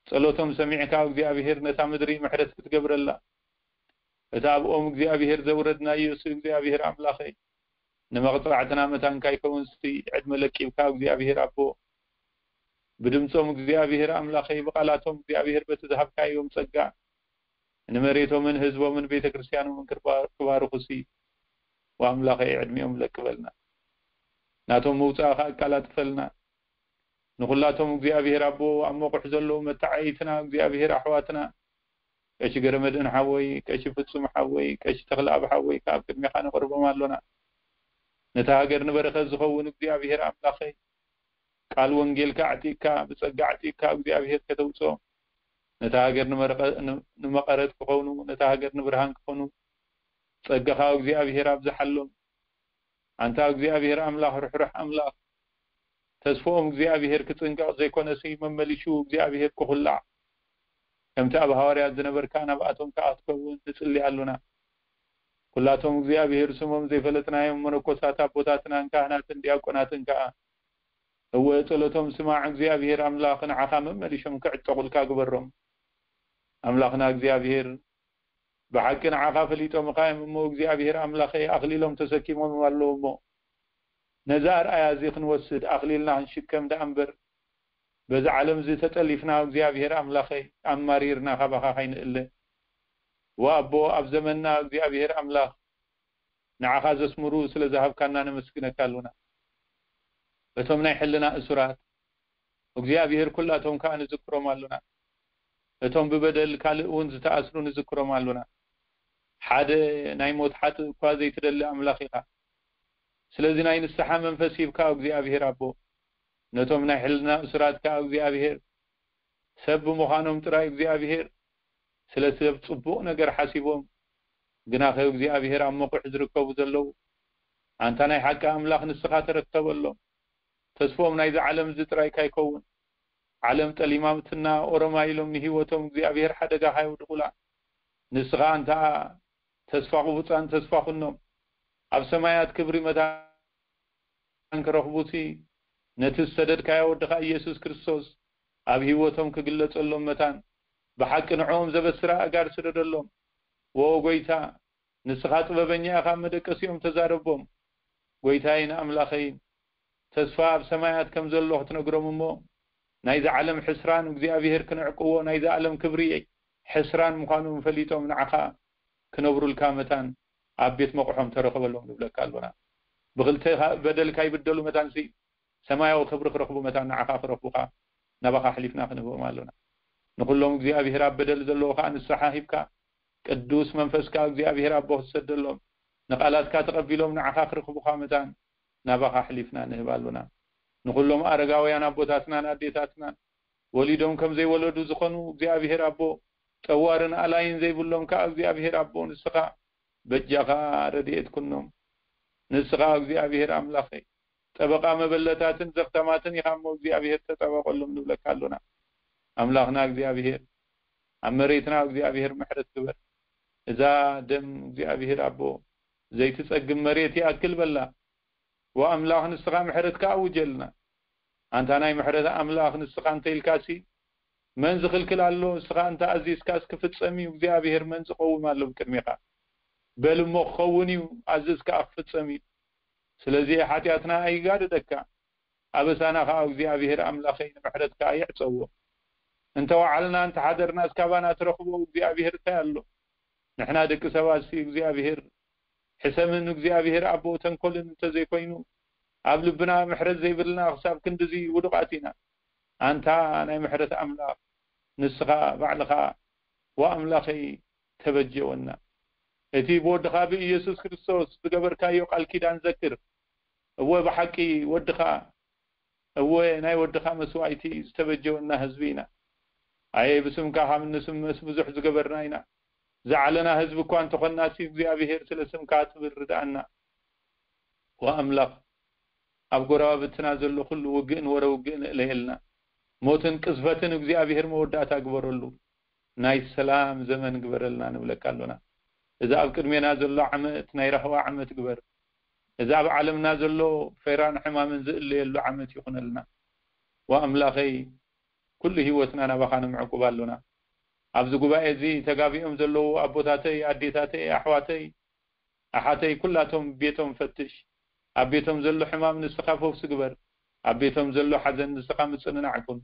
ጸሎቶም ሰሚዕካ እግዚኣብሔር ነታ ምድሪ ምሕረት ክትገብረላ። እቲ ኣብኦም እግዚኣብሔር ዘውረድናዮሲ እግዚኣብሔር ኣምላኸይ ንመቕጻዕትና መታን ካይከውንሲ ዕድመ ለቂብካ እግዚኣብሔር ኣቦ ብድምጾም እግዚኣብሔር ኣምላኸይ ብቓላቶም እግዚኣብሔር በቲ ዝሃብካዮም ጸጋ ንመሬቶምን ህዝቦምን ቤተ ክርስቲያኖምን ክባ-፣ ክባርኹሲ ወኣምላኸይ ዕድሚኦም ለቅበልና። ናቶም ምውጻእ ከኣ ኣቃላጥፈልና። ንኹላቶም እግዚኣብሔር ኣቦ ኣብ መቑሕ ዘለዉ መተዓይትና እግዚኣብሔር ኣሕዋትና ቀሺ ገረመድህን ሓወይ፣ ቀሺ ፍጹም ሓወይ፣ ቀሺ ተኽለኣብ ሓወይ ከኣ ኣብ ቅድሜኻ ነቕርቦም ኣሎና። ነታ ሃገር ንበረኸት ዝኸውን እግዚኣብሔር ኣምላኸይ ቃል ወንጌልካ ኣዕጢቕካ ብጸጋ ኣዕጢቕካ እግዚኣብሔር ከተውጽኦ ነታ ሃገር ንመረቐ-፣ ን-፣ ንመቐረት ክኾኑ ነታ ሃገር ንብርሃን ክኾኑ ጸጋኻ እግዚኣብሔር ኣብዝሓሎም። ኣንታ እግዚኣብሔር ኣምላኽ ርሕሩሕ ኣምላኽ ተስፍኦም እግዚኣብሔር ክጽንቀቕ ዘይኮነሲ መመሊሹ እግዚኣብሔር ክኹላዕ ከምቲ ኣብ ሃዋርያት ዝነበርካ ናብኣቶም ከኣ ክትከውን ንጽሊ ኣሉና። ኩላቶም እግዚኣብሔር ስሞም ዘይፈለጥናዮም መነኮሳት ኣቦታትናን ካህናትን ዲያቆናትን ከኣ እወ ጸሎቶም ስማዕ እግዚኣብሔር ኣምላኽ ንዓኻ መመሊሾም ክዕጠቑልካ ግበሮም። ኣምላኽና እግዚኣብሔር ብሓቂ ንዓኻ ፈሊጦምኻ እዮም እሞ እግዚኣብሔር ኣምላኸይ ኣኽሊሎም ተሰኪሞም ኣለዉ እሞ ነዚ ኣርኣያ እዚ ክንወስድ ኣኽሊልና ክንሽከም ደኣ እምበር በዚ ዓለም እዚ ተጠሊፍና እግዚኣብሔር ኣምላኸይ ኣማሪርና ካባኻ ካይንእለ። ወኣቦ ኣብ ዘመንና እግዚኣብሔር ኣምላኽ ንዓኻ ዘስምሩ ስለ ዝሃብካና ነመስግነካ ኣሉና። እቶም ናይ ሕልና እሱራት እግዚኣብሔር ኩላቶም ከኣ ንዝክሮም ኣሉና። እቶም ብበደል ካልእ እውን ዝተኣስሩ ንዝክሮም ኣሉና። ሓደ ናይ ሞት ሓጥእ እኳ ዘይትደሊ ኣምላኽ ኢኻ። ስለዚ ናይ ንስሓ መንፈስ ሂብካ እግዚኣብሔር ኣቦ ነቶም ናይ ሕልና እሱራት ከኣ እግዚኣብሔር ሰብ ብምዃኖም ጥራይ እግዚኣብሔር ስለ ሰብ ጽቡቕ ነገር ሓሲቦም ግናኸ እግዚኣብሔር ኣብ መቑሕ ዝርከቡ ዘለዉ ኣንታ ናይ ሓቂ ኣምላኽ ንስኻ ተረከበሎም። ተስፎም ናይዚ ዓለም እዚ ጥራይ ካይከውን። ዓለም ጠሊማትና ኦሮማ ኢሎም ንህይወቶም እግዚኣብሔር ሓደጋ ካየውድቑላ። ንስኻ ኣንታ ተስፋ ቁቡጻን ተስፋ ኩኖም ኣብ ሰማያት ክብሪ መታን ክረኽቡሲ፣ ነቲ ዝሰደድካዮ ወድኻ ኢየሱስ ክርስቶስ ኣብ ህይወቶም ክግለጸሎም መታን፣ ብሓቂ ንዕኦም ዘበስራ ኣእጋር ስደደሎም። ወ ጎይታ፣ ንስኻ ጥበበኛ ኢኻ፣ መደቀሲኦም ተዛረቦም። ጎይታይን ኣምላኸይን፣ ተስፋ ኣብ ሰማያት ከም ዘሎ ክትነግሮም እሞ፣ ናይዚ ዓለም ሕስራን እግዚኣብሔር ክነዕቅዎ፣ ናይዚ ዓለም ክብሪ ሕስራን ምዃኑ ፈሊጦም ንዓኻ ክነብሩልካ መታን ኣብ ቤት መቕሖም ተረኸበሎም ንብለካ ኣሎና። ብክልተ በደል ካይብደሉ መታንሲ ሰማያዊ ክብሪ ክረኽቡ መታን ንዓኻ ክረኽቡኻ ናባኻ ኣሕሊፍና ክንህቦም ኣሎና። ንኹሎም እግዚኣብሔር ኣብ በደል ዘለዎ ኸኣ ንስሓ ሂብካ፣ ቅዱስ መንፈስካ እግዚኣብሔር ኣቦ ክትሰደሎም፣ ንቓላትካ ተቐቢሎም ንዓኻ ክረኽቡኻ መታን ናባኻ ኣሕሊፍና ንህብ ኣሎና። ንኹሎም ኣረጋውያን ኣቦታትናን ኣዴታትናን፣ ወሊዶም ከም ዘይወለዱ ዝኾኑ እግዚኣብሔር ኣቦ፣ ጠዋርን ኣላይን ዘይብሎም ከኣ እግዚኣብሔር ኣቦ ንስኻ በጃኻ ረድኤት ኩኖም። ንስኻ እግዚኣብሔር ኣምላኸይ፣ ጠበቓ መበለታትን ዘኽታማትን ኢኻ እሞ እግዚኣብሔር ተጠበቐሎም ንብለካ ኣሎና። ኣምላኽና እግዚኣብሔር፣ ኣብ መሬትና እግዚኣብሔር ምሕረት ግበር። እዛ ደም እግዚኣብሔር ኣቦ ዘይትጸግም መሬት ይኣክል በላ። ወኣምላኽ ንስኻ ምሕረትካ ኣውጀልና። ኣንታ ናይ ምሕረት ኣምላኽ ንስኻ እንተ ኢልካሲ መን ዝኽልክል ኣሎ? ንስኻ እንተ ኣዚዝካስ ክፍጸም እዩ። እግዚኣብሔር መን ዝቐውም ኣሎ ብቅድሜኻ? በል እሞ ክኸውን እዩ፣ ኣዝዝ ከኣ ክፍጸም እዩ። ስለዚ ሓጢኣትና ኣይጋደደካ፣ ኣበሳና ከኣ እግዚኣብሔር ኣምላኸይ ንምሕረትካ ኣይዕጸዎ። እንተ ወዓልና እንተ ሓደርናስ ካባና ትረኽቦ እግዚኣብሔር እንታይ ኣሎ? ንሕና ደቂ ሰባትሲ እግዚኣብሔር ሕሰምን እግዚኣብሔር ኣቦ ተንኮልን እንተዘይኮይኑ፣ ኣብ ልብና ምሕረት ዘይብልና ክሳብ ክንድዚ ውዱቓት ኢና። ኣንታ ናይ ምሕረት ኣምላኽ፣ ንስኻ ባዕልኻ ወኣምላኸይ ተበጀወና። እቲ ብወድኻ ብኢየሱስ ክርስቶስ ዝገበርካዮ ቃል ኪዳን ዘክር። እወ ብሓቂ ወድኻ፣ እወ ናይ ወድኻ መስዋእቲ ዝተበጀወና ህዝቢ ኢና። ኣየ ብስምካ ካብ እንስመስ ብዙሕ ዝገበርና ኢና። ዝዓለና ህዝቢ እኳ እንተኾንናሲ እግዚኣብሔር ስለ ስምካ ትብል ርድኣና። ወኣምላኽ ኣብ ጎረባብትና ዘሎ ኩሉ ውግእን ወረ ውግእን እለየልና። ሞትን ቅዝፈትን እግዚኣብሔር መወዳእታ ግበረሉ። ናይ ሰላም ዘመን ግበረልና ንብለካ ኣሎና። እዚ ኣብ ቅድሜና ዘሎ ዓመት ናይ ራህዋ ዓመት ግበር። እዚ ኣብ ዓለምና ዘሎ ፈይራን ሕማምን ዝእለየሉ ዓመት ይኹነልና። ወኣምላኸይ ኩሉ ህይወትና ናባኻ ንምዕቁብ ኣሎና። ኣብዚ ጉባኤ እዚ ተጋቢኦም ዘለዉ ኣቦታተይ፣ ኣዴታተይ፣ ኣሕዋተይ፣ ኣሓተይ ኩላቶም ቤቶም ፈትሽ። ኣብ ቤቶም ዘሎ ሕማም ንስኻ ፈውሲ ግበር። ኣብ ቤቶም ዘሎ ሓዘን ንስኻ ምጽንናዕ ኩን።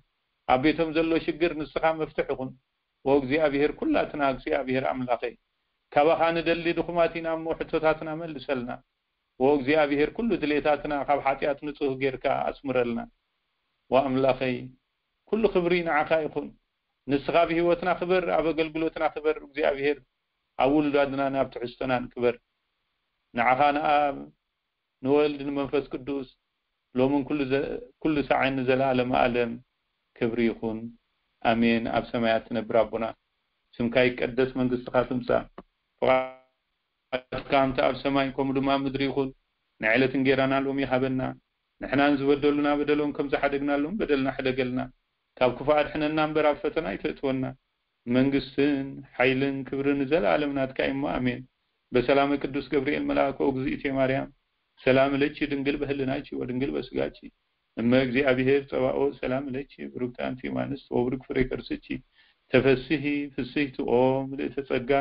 ኣብ ቤቶም ዘሎ ሽግር ንስኻ መፍትሕ ኩን። ወእግዚኣብሔር ኩላትና እግዚኣብሔር ኣምላኸይ ካባኻ ንደሊ ድኹማት ኢና እሞ ሕቶታትና መልሰልና። ወእግዚኣብሔር ኩሉ ድሌታትና ካብ ሓጢኣት ንጹህ ጌርካ ኣስምረልና። ወኣምላኸይ ኩሉ ክብሪ ንዓኻ ይኹን። ንስኻ ኣብ ህይወትና ክበር፣ ኣብ ኣገልግሎትና ክበር እግዚኣብሔር፣ ኣብ ውሉዳትናን ኣብ ትሕዝቶናን ክበር። ንዓኻ ንኣብ ንወልድ ንመንፈስ ቅዱስ ሎምን ኩሉ ዘ- ኩሉ ሳዕን ንዘለኣለም ኣለም ክብሪ ይኹን። ኣሜን። ኣብ ሰማያት ትነብር ኣቦና ስምካ ይቀደስ፣ መንግስትኻ ትምጻእ፣ ፍቓድካ ከምቲ ኣብ ሰማይ ከምኡ ድማ ኣብ ምድሪ ይኹን። ንዕለት እንጌራና ሎሚ ሃበና፣ ንሕናን ዝበደሉና በደሎም ከም ዝሓደግናሎም በደልና ሕደገልና፣ ካብ ክፉእ ኣድሕነና እምበር ኣብ ፈተና ኣይተእትወና። መንግስትን ሓይልን ክብርን ንዘለኣለም ናትካ እሞ ኣሜን። በሰላመ ቅዱስ ገብርኤል መልኣኮ እግዝእቴ ማርያም ሰላም ለኪ ድንግል በህልናኪ ወድንግል በስጋኪ እመ እግዚኣብሔር ጸባኦት ሰላም ለኪ ብሩክት ኣንቲ እማንስት ወብሩክ ፍሬ ከርስኪ ተፈስሂ ፍስህቲ ኦ ምልእተ ጸጋ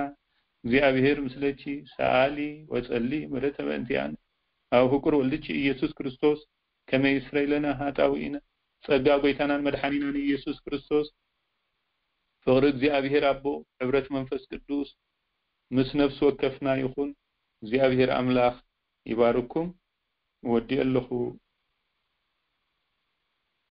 እግዚኣብሔር ምስለኪ ሰኣሊ ወጸሊ ምሕረተ በእንቲኣነ ኣብ ፍቁር ወልድኪ ኢየሱስ ክርስቶስ ከመ ይስረይ ለነ ኃጣውኢነ። ጸጋ ጐይታናን መድኃኒናን ኢየሱስ ክርስቶስ፣ ፍቕሪ እግዚኣብሔር ኣቦ፣ ኅብረት መንፈስ ቅዱስ ምስ ነፍሲ ወከፍና ይኹን። እግዚኣብሔር ኣምላኽ ይባርኩም። ወዲኤ ኣለኹ።